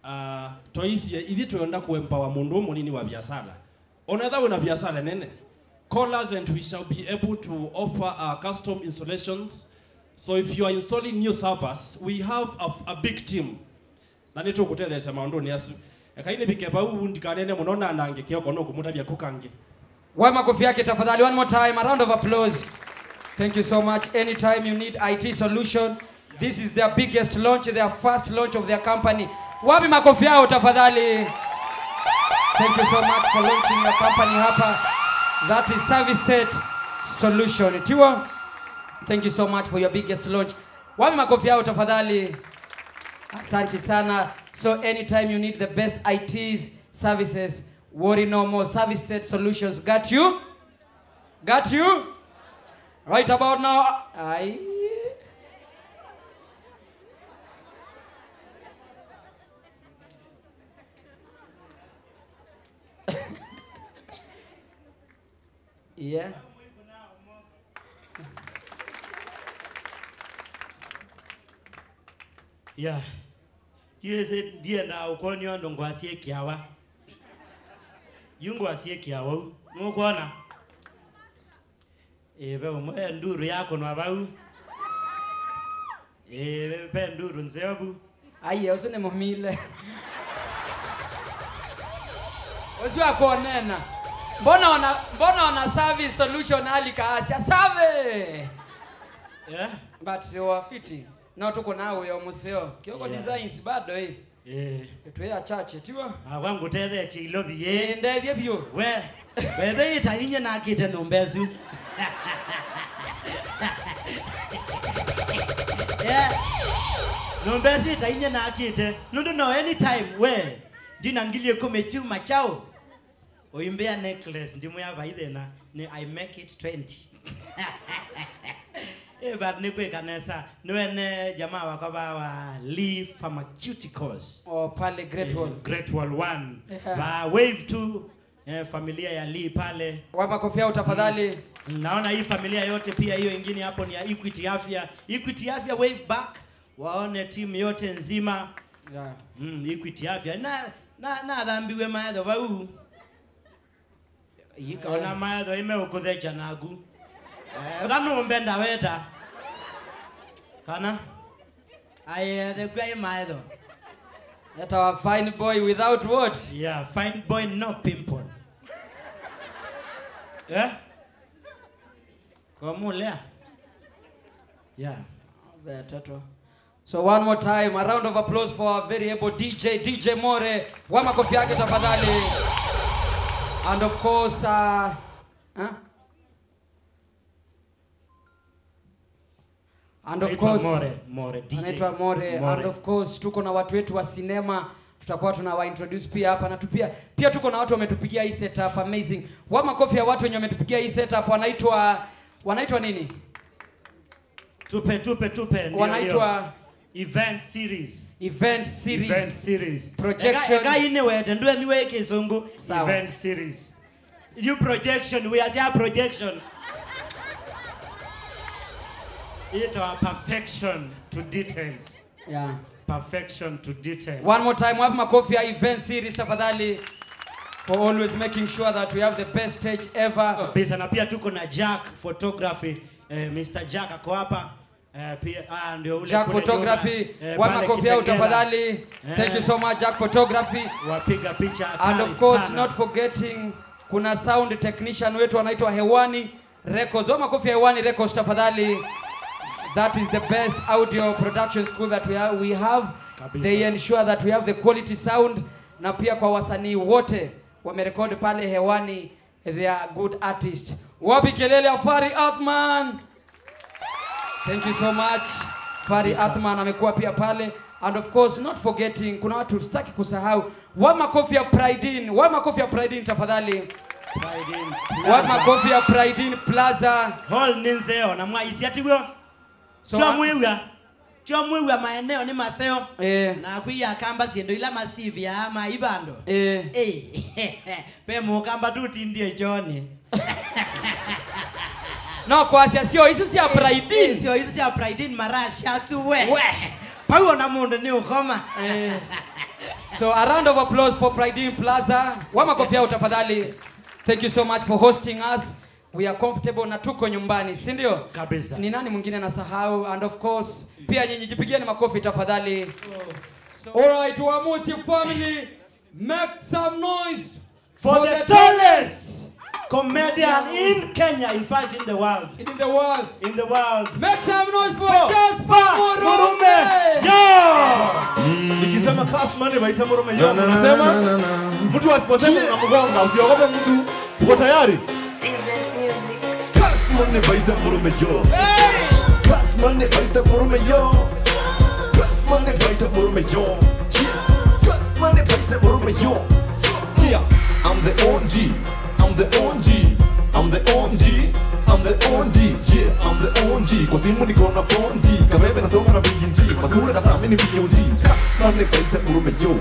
Uh, twaisye, ithyĩ twenda kuempower mũndũ mũnini wa biasala. Ona ethĩwa wĩna biasala nene, call us and we shall be able to offer, uh, custom installations. So if you are installing new servers, we have a, a big team. Na nĩtũkũtetheesya maũndũnĩ asu. Ekai nĩvike vau, ndikaneene mũno na anangĩke oko nũkũmũtavya ku kangĩ. Waĩ makofi yake tafadhali, one more time, a round of applause. Thank you so much. Anytime you need I T solution, this is their biggest launch, their first launch of their company. Wapi makofi yao tafadhali? Thank you so much for launching your company hapa. That is Service State Solution. Tiwa, thank you so much for your biggest launch. Wapi makofi yao tafadhali? Asante sana. So anytime you need the best I Ts services, worry no more. Service State Solutions got you. Got you. Right about now. Aye. Yeah. Yeah. Yu ĩsĩ ndiendaa ũkwony'a ũndũ ngwasya ĩkĩawa. Yu ngwasya ĩkĩawa u. Nũkwona? Ĩĩ, ve ũmwe nduru yakũnwa vau. Ĩĩ, ve nduru nzeo vu. Aiye, ũsu nĩ mũmile. Ũsu akonena. Mbona ona, mbona ona Service Solution alika asya, "Save!" Yeah. But wafiti. No tũkũnaa wĩo mũseo. Kioko, yeah, Designs bado, eh. Eh. Twĩ achache, tiwa? Ah, wa ngũtethetie Ilovi, eh. Eh, ndethie biũ. We, wethe ĩtainyie nakĩte nyũmba ĩsu. Yeah. Nyũmba ĩsu ĩtainyie nakĩte. Nũndũ no anytime, we, ndina ngili ĩkũmi kyuma kyaũ. Ũimbĩa necklace, ndimwĩa vai thĩna, nĩ I make it twenty. Eh, but nĩ kwĩka nesa. Nĩwene jamaa wakwa va wa Lee Pharmaceuticals. Oh, pale Great Wall. Eh, Great Wall one. Ehe. Va Wave two, eh, familia ya Lee pale. Wa makofi yao tafadhali. Mm. Naona hii familia yote pia, hiyo ingine hapo ni ya Equity Afya. Equity Afya, wave back. Waone timu yote nzima. Yeah. Mm, Equity Afya. Na, na, nathambiwe maetho vau. Ikaona maetho ime ũkũthecha naku. Eh, eka nũmbe ndaweta. Kana? Aye, the kwai maetho. That our fine boy without what? Yeah, fine boy, no pimple. Eh? Kwa mulea? Yeah. Ve toto. So one more time, a round of applause for our very able D J, D J More. Wa makofi yake tafadhali. And of course, uh, huh? And of course, More, More, D J. Anaitwa More. More. And of course, tuko na watu wetu wa sinema. Tutakuwa tunawa introduce pia hapa. Na tu-, pia, pia tuko na watu wametupigia hii setup. Amazing. Wa makofi ya watu wenye wametupigia hii setup. Wanaitwa, wanaitwa nini? Tupe, tupe, tupe, ndio, wanaitwa ndio. Event series. Event series. Event series. Projection. Eka, eka ine wete, ndue miwe kizungu. Sawa. Event series. You projection, we are there projection. It our perfection to details. Yeah. Perfection to details. One more time, wapi makofi ya event series tafadhali, for always making sure that we have the best stage ever. Kabisa, na pia tuko na Jack Photography, eh, Mister Jack ako hapa. Eh, pia, ah, ndio ule Jack kule Photography, nyuma. Eh, wa pale makofi yao Kitengela. Tafadhali. Eh. Thank you so much, Jack Photography. Wapiga picha hatari sana. And of course, not forgetting, kuna sound technician wetu anaitwa Hewani Records. Wa makofi ya Hewani Records, tafadhali. That is the best audio production school that we ha-, we have. Kabisa. They ensure that we have the quality sound, na pia kwa wasanii wote wamerekodi pale hewani, they are good artists. Wapi kelele ya Fari Athman? Thank you so much. Fari Athman amekuwa pia pale. And of course, not forgetting, kuna watu sitaki kusahau. Wa makofi ya Pride Inn, wa makofi ya Pride Inn tafadhali. Pride Inn Wa Plaza. Makofi ya Pride Inn Plaza. Hall nĩ nzeo na mwaisya tiw'o. So, Twamwĩw'a. Twamwĩw'a maeneo nĩ maseo. Eh. Na kwĩ Akamba syĩndũ ila masivĩaa mai vandũ. Eh. Eh. Ve mũkamba tũtindie John. No kwasya sio isu sya Pride Inn. Sio isu sya Pride Inn marasya asu we. We. Pau ona mũndũ nĩ ũkoma. Eh. So a round of applause for Pride Inn Plaza. Wa makofi yao tafadhali. Thank you so much for hosting us. We are comfortable na tuko nyumbani, si ndio? Kabisa. Ni nani mwingine nasahau? And of course, pia nyinyi jipigieni makofi tafadhali. So, all right, Wamusi family, make some noise for the tallest comedian in Kenya, in fact, in the world. In the world. In the world. Make some noise for Jasper Murume. Yo! Nikisema Kasmani vaita Murume yo, mnasema? Mtu asiposema unamgonga, usiogope mtu. Uko tayari? Kasmani vaita Murume yo. Kasmani vaita Murume yo. Kasmani vaita Murume yo. Kasmani vaita Murume yo. Yeah, I'm the O G. I'm the O G, I'm the O G, I'm the O G, yeah, I'm the O G. Kwa simu niko na four G, kabebe nasoma na Big G, masura kata mini B O G. Kasmani vaita Murume yo.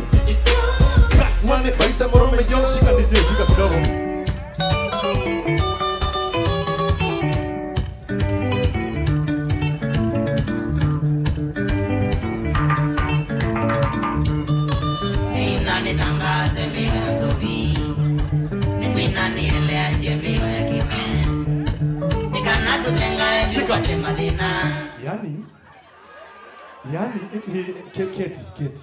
Kasmani vaita Murume yo, shika D J, shika kidogo. Nĩina nĩtangaase mĩoyo nzũvi, nĩkwina nĩeleandye mĩoyo kĩme, nĩ kana tũthengae tũkwate mathĩna. Yani, yani, eh, eh, Ke-, Keti, Keti.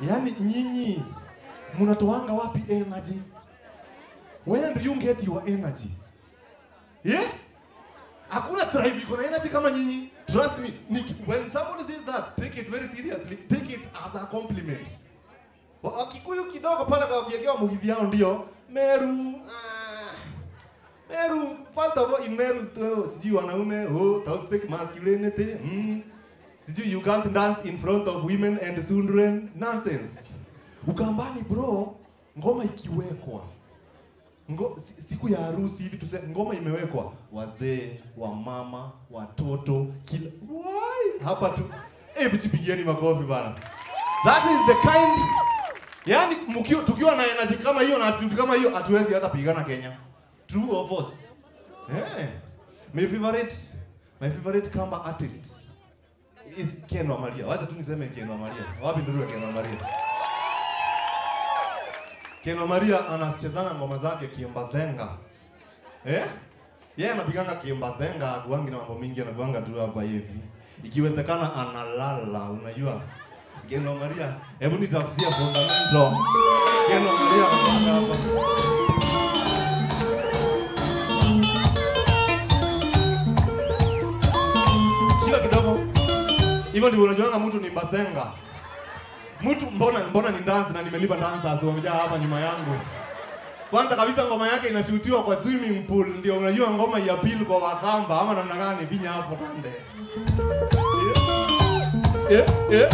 Yani, nyinyi, mnatoanga wapi energy? Where do you get your energy? Eh? Hakuna tribe iko na energy kama nyinyi. Trust me. Niki-, when somebody says that, take it very seriously. Take it as a compliment. Wa-, Wakikuyu kidogo pale kwa wakiekewa mugithi yao ndio. Meru, ah, Meru, first of all, in Meru, tu-, sijui wanaume, oh, toxic masculinity, mm. Sijui you can't dance in front of women and children. Nonsense. Ukambani, bro, ngoma ikiwekwa. Ngo-, si-, siku ya harusi hivi tuse-, ngoma imewekwa, wazee, wamama, watoto, kila, why? Hapa tu. Eh, bichi pigieni makofi bana. That is the kind, yani, mkio-, tukiwa na energy kama hiyo na attitude kama hiyo, hatuwezi hata pigana Kenya. True or false? Eh. My favorite, my favorite Kamba artists is Ken wa Maria. Wacha tu niseme Ken wa Maria. Wapi nduru ya Ken wa Maria? Ken wa Maria anachezanga ngoma zake kimbazenga. Eh? Yeye anapiganga kimbazenga, hakuangi na mambo mingi, anakuanga tu hapa hivi. Ikiwezekana analala, unajua. Ken wa Maria, hebu nitafutie fundamental. Ken wa Maria, hapa. Shika kidogo. Hivyo ndivyo unajuanga mtu ni mbazenga. Mtu, mbona, mbona ni dance na nimelipa dancers wamejaa hapa nyuma yangu? Kwanza kabisa ngoma yake inashutiwa kwa swimming pool, ndio unajua ngoma ya appeal kwa Wakamba ama namna gani? Vinya hapo twende. Eh, eh, eh.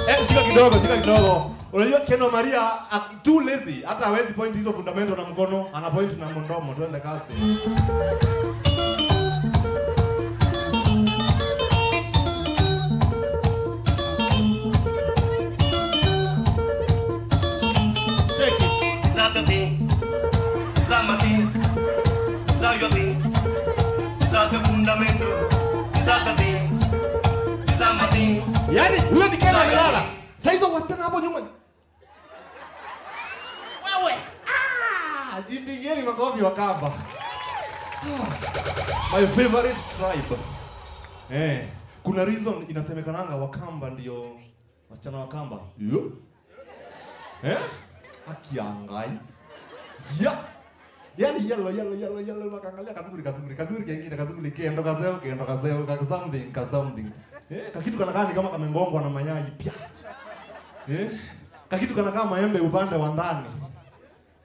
Eh, shika kidogo, shika kidogo. Unajua Ken wa Maria, ak-, too lazy, hata hawezi point hizo fundamental na mkono, ana point na mdomo, twende kazi. Take it. These are the things. These are my things. These are your things. These are the fundamentals. These are the things. These are my things. Yani, huyo ni Ken amelala. Sasa hizo wasichana hapo nyuma. Wewe. Ah, jipigieni makofi Wakamba. Ah. My favorite tribe. Eh, kuna reason inasemekananga Wakamba ndio wasichana Wakamba. Yo. Eh? Haki ya Ngai. Ya. Yani yellow, yellow, yellow, yellow, wakaangalia kazuri, kazuri, kazuri kengine, kazuri kendo kaseo, kendo kaseo, ka something, ka something. Eh, kakitu kana kaa ni kama kamegongwa na mayai pia. Eh, kakitu kana kaa maembe upande wa ndani.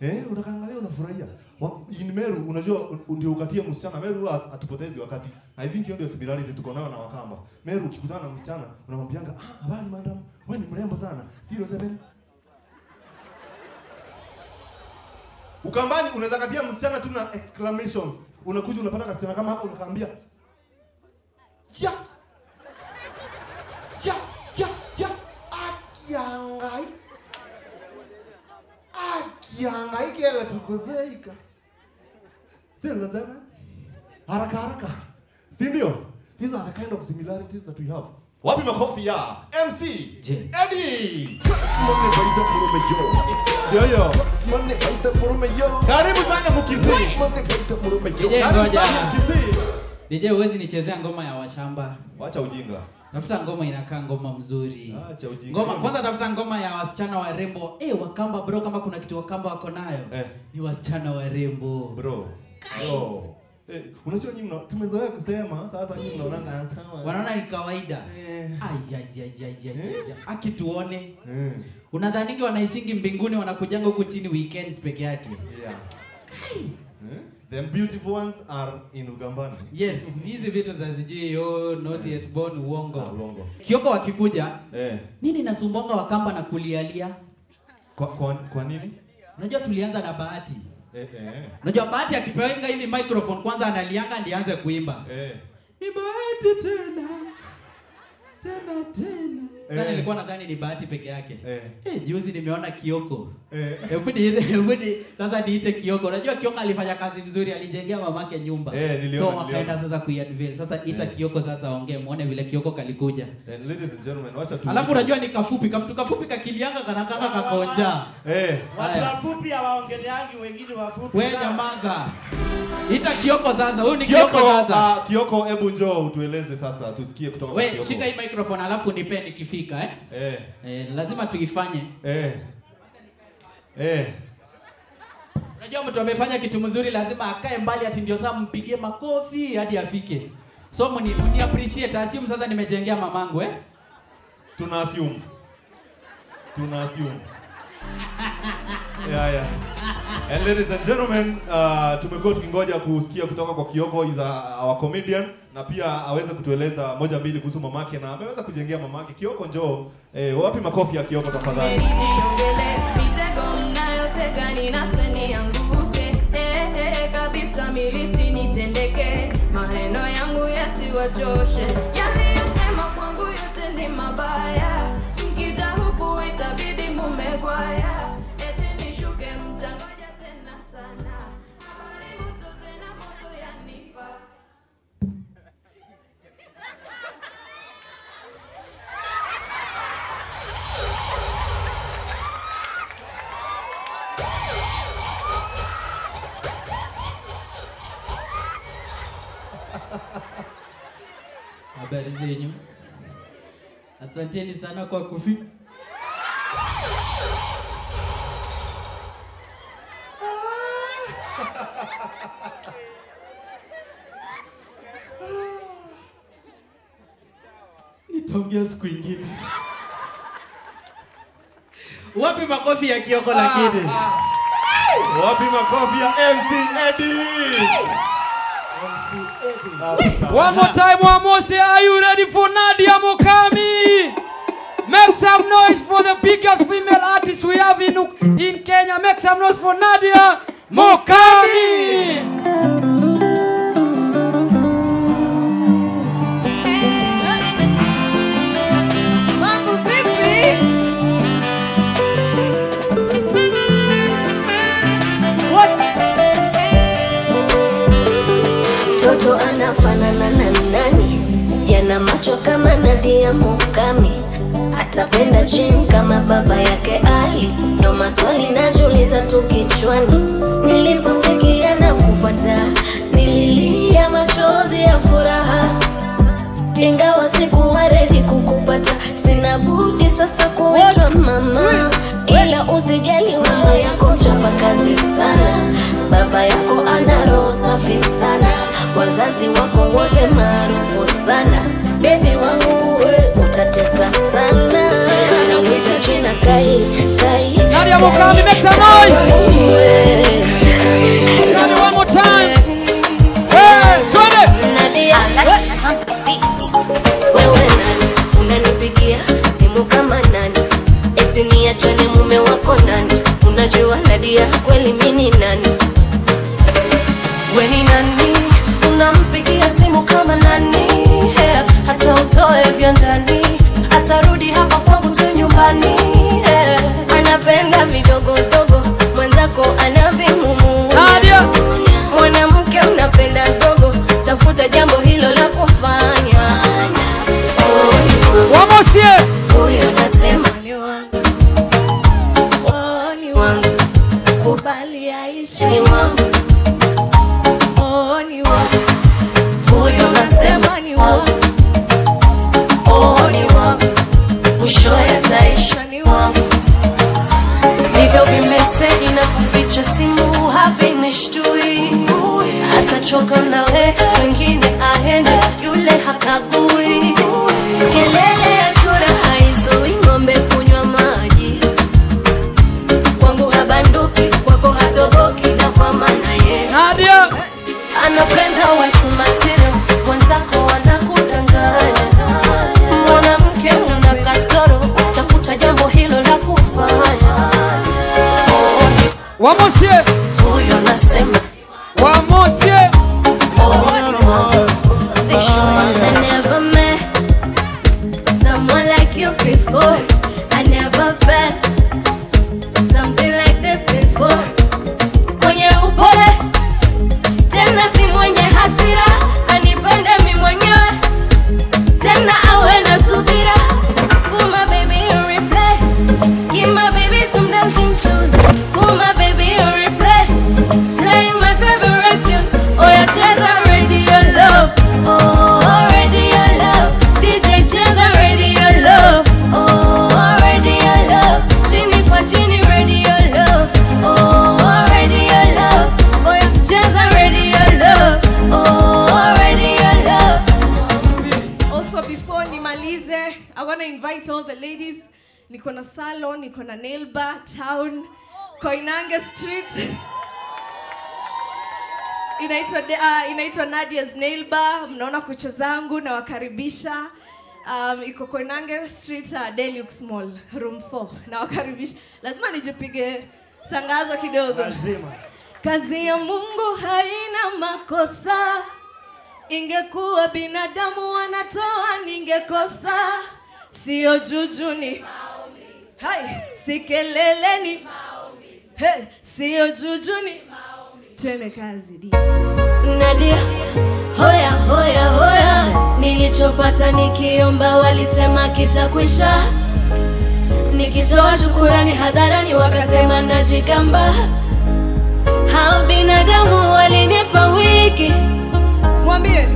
Eh, unakaangalia unafurahia. Wa-, in Meru, unajua, u-, ndio ukatie msichana. Meru huwa hat-, hatupotezi wakati. I think hiyo ndio similarity tuko nayo na Wakamba. Meru ukikutana na msichana, unamwambianga, "Ah, habari madam, wewe ni mrembo sana. Zero seven." Ukambani unaweza katia msichana tu na exclamations. Unakuja unapata kasichana kama hako unakaambia, "Ya! Ya! Ya! Ya! Aki ya Ngai! Aki ya Ngai kela tukozeika." Zero seven. Haraka haraka. Si ndio? These are the kind of similarities that we have. Wapi makofi ya M C Je. Eddie? Yo, yo. Karibu sana Mukisi. Ije Karibu ngoja. sana Mukisi. Nije uwezi nichezea ngoma ya washamba. Wacha ujinga. Tafuta ngoma inakaa ngoma mzuri. Acha ujinga. Ngoma, kwanza tafuta ngoma ya wasichana warembo. Eh, Wakamba bro, kama kuna kitu Wakamba wako nayo. Eh. Ni wasichana warembo. Bro. Bro. Eh, unajua nyinyi mna-, tumezoea kusema, sasa nyinyi mnaonanga sawa. Wanaona ni kawaida. Eh. Ai, ai, ai, ai, ai, Eh? ai, ai. Aki tuone. Eh. Unadhaningi wanaishingi mbinguni wanakujanga huku chini weekends peke yake. Yeah. Kai. Eh? The beautiful ones are in Ugambani. Yes, hizi vitu za sijui, oh, not yet born, uongo. Ah, uongo. Kioko wakikuja, Eh. nini nasumbonga Wakamba na kulialia? Kwa, kwa, kwa nini? Unajua tulianza na Bahati. Eh, eh. Unajua Bahati akipewa hivi microphone kwanza analianga ndiye aanze kuimba. Eh. Ni Bahati tena. Tena, tena. Sasa Eh. nilikuwa nadhani ni Bahati peke yake. Eh. Eh, juzi nimeona Kioko. Eh. Hebu ni-, hebu ni-, sasa niite Kioko. Unajua Kioko alifanya kazi mzuri, alijengea mamake nyumba. Eh, niliona, So, niliona. wakaenda sasa kuiunveil. Sasa ita Eh. Kioko sasa ongee, muone vile Kioko kalikuja. Eh, ladies and gentlemen, wacha tu- Alafu unajua ni kafupi, kamtu kafupi kakilianga kana kama kakonja. Eh. Watu Haya. wafupi hawaongeleangi, wengine wafupi We sana. nyamaza. Ita Kioko sasa. Huyu ni Kioko, Kioko sasa. ah, Kioko, hebu njoo utueleze sasa, tusikie kutoka kwa We, Kioko. shika hii microphone alafu nipe nikifika, eh? Eh. Eh, lazima tuifanye. Eh. Eh. Unajua mtu amefanya kitu mzuri lazima akae mbali ati ndio saa mpigie makofi hadi afike. So mni, mni appreciate, assume sasa nimejengea mamangu, eh? Tuna assume. Tuna assume. Yeah, yeah. And ladies and gentlemen, uh, tumekuwa tukingoja kusikia kutoka kwa Kioko, is a, our comedian, na pia aweze kutueleza moja mbili kuhusu mamake, na ameweza kujengea mamake. Kioko, njoo. Eh, wapi makofi ya Kioko tafadhali? Nijiongelee mitego mnayotega, ninaswe nianguke. Eh, eh, kabisa, mimi lisinitendeke. Maneno yangu yasiwachoshe. Yaliyosema kwangu yote ni mabaya. Mkija huku itabidi mumegwaya. Eti nishuke, mtangoja tena sana. Habari moto tena moto yanipa. Habari zenyu. Asanteni sana kwa kufi- Nitaongea siku ingine. Wapi makofi ya Kioko lakini? Wapi makofi ya M C Eddie? M C Eddie. One more time, one more, say, are you ready for Nadia Mukami? Make some noise for the biggest female artist we have in, in Kenya. Make some noise for Nadia Mukami! Mambo vipi? What? Mtoto anafanana na nani? Yana macho kama Nadia Mukami. Atapenda gym kama baba yake Ali? Ndo maswali najiuliza tu kichwani. Niliposikia na kupata, nililia machozi ya furaha. Ingawa sikuwa ready kukupata, sina budi sasa kuitwa mama. Ila usijali, mama yako mchapa kazi sana, baba yako ana roho safi sana, wazazi wako wote maarufu sana. Baby wangu Mukami, make some noise. One more time. Hey, twende. Alexis on the beat. Wewe nani? Unanipigia simu kama nani? Eti niachane mume wako nani? Unajua Nadia kweli mimi ni nani? We ni nani? Unampigia simu kama nani? Yeah. Hata utoe vya ndani, atarudi hapa kwangu tu nyumbani. Yeah. Anapenda vidogodogo, mwenzako anavimumu. Nadia. Mwanamke unapenda zogo, tafuta jambo hilo la kufanya. Wamosie. Huyo nasema ni wangu. Oh, ni wangu. Kubali aishi ni wangu. Oh, ni wangu. Huyo nasema ni wangu. Oh, ni wangu. Mwisho yataisha ni wangu. Hivyo vimeseji na kuficha simu havinishtui. Atachoka nawe, wengine aende, yule hakagui. Kelele ya chura haizui ng'ombe kunywa maji. Kwangu habanduki, kwako hatoboki, na kwa maana ye. Nadia. Anapenda wife material, mwenzako anakudanganya. Mwanamke una kasoro, tafuta jambo hilo la kufanya. Wamosie. Huyo nasema. Wamosie. Oh, I never met someone like you before. I never felt something like this before. Mwenye upole, tena si mwenye hasira, anipende mi mwenyewe, tena awe na subira. Put my baby in replay, give my baby some dancing shoes. Put my baby in replay, playing my favorite tune. Oya cheza Radio Love, oh, Radio Love. D J cheza Radio Love, oh, Radio Love. Chini kwa chini Radio Love, oh, Radio Love. Oya cheza Radio Love, oh, Radio Love. Also, before nimalize, I wanna invite all the ladies. Niko na salon, niko na nail bar town, Koinange Street. Inaitwa de-, ah, inaitwa Nadia's Nail Bar. Mnaona kucha zangu, nawakaribisha. Um, iko Koinange Street, ah, Deluxe Mall, room four. Nawakaribisha. Lazima nijipige tangazo kidogo. Lazima. Kazi ya Mungu haina makosa. Ingekuwa binadamu wanatoa, ningekosa. Sio juju ni. Hai, si kelele ni. Hey, sio juju ni. Twende kazi, D J. Nadia, hoya, hoya, hoya. Nilichopata nikiomba walisema kitakwisha. Nikitoa shukurani hadharani wakasema najigamba. Hao binadamu walinipa wiki. Mwambie.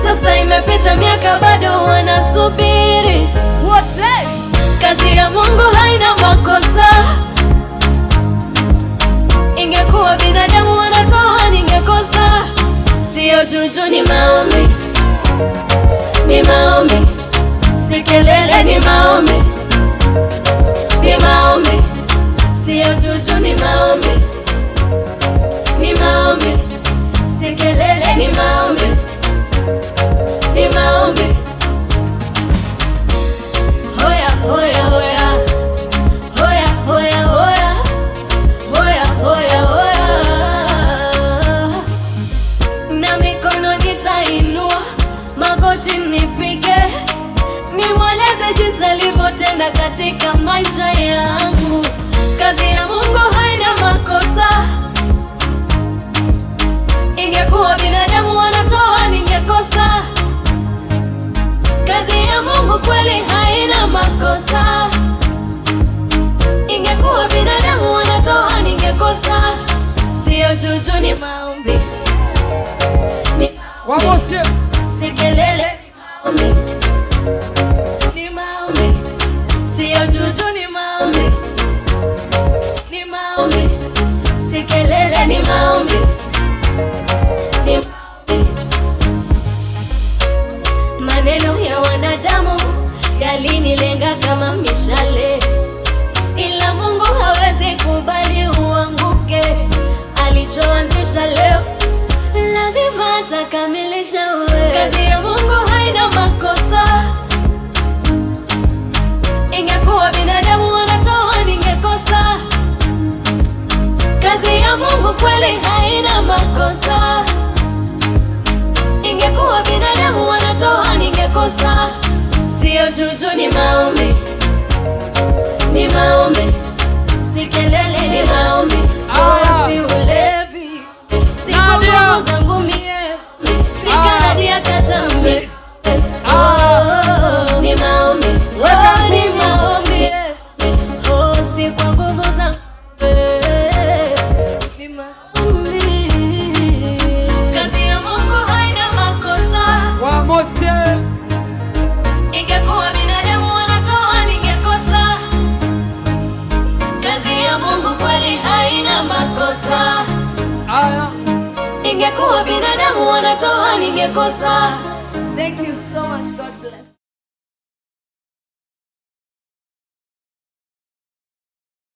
Sasa imepita miaka bado wanasubiri. Wote. Kazi ya Mungu haina makosa. Ingekuwa binadamu wanatoa ningekosa. Sio juju ni maombi. Ni maombi. Si kelele ni maombi. Ni maombi. Sio juju ni maombi. Ni maombi. Si kelele ni maombi. Ni maombi. Hoya, hoya, hoya. Hoya, hoya, hoya. Hoya, hoya, hoya. Na mikono nitainua, magoti nipige, nimweleze jinsi alivyotenda katika maisha yangu. Kazi ya Mungu haina makosa. Ingekuwa binadamu wanatoa, ningekosa. Kazi ya Mungu kweli haina makosa. Ingekuwa binadamu wanatoa, ningekosa. Sio juju ni maombi. Ni maombi. Wamosie. Si kelele. Maombi. Ni maombi. Sio juju ni maombi. Ni maombi. Si kelele ni maombi. Ni maombi. Maneno ya wanadamu yalinilenga kama mishale. Ila Mungu hawezi Takamilisha wewe. Kazi ya Mungu haina makosa. Ingekuwa binadamu wanatoa, ningekosa. Kazi ya Mungu kweli haina makosa. Ingekuwa binadamu wanatoa, ningekosa. Sio juju, ni maombi. Ni maombi. Si kelele, ni maombi. Ah. Si ulevi. Si kwa nguvu zangu mie. Si kanadi ya katambe. Oh, ni maombi. Oh, ni maombi. Oh, si kwa nguvu zangu. Ni maombi. Kazi ya Mungu haina makosa. Wa Mose. Ingekuwa binadamu wanatoa, ningekosa. Kazi ya Mungu kweli haina makosa. Aya. Ingekuwa binadamu wanatoa, ningekosa.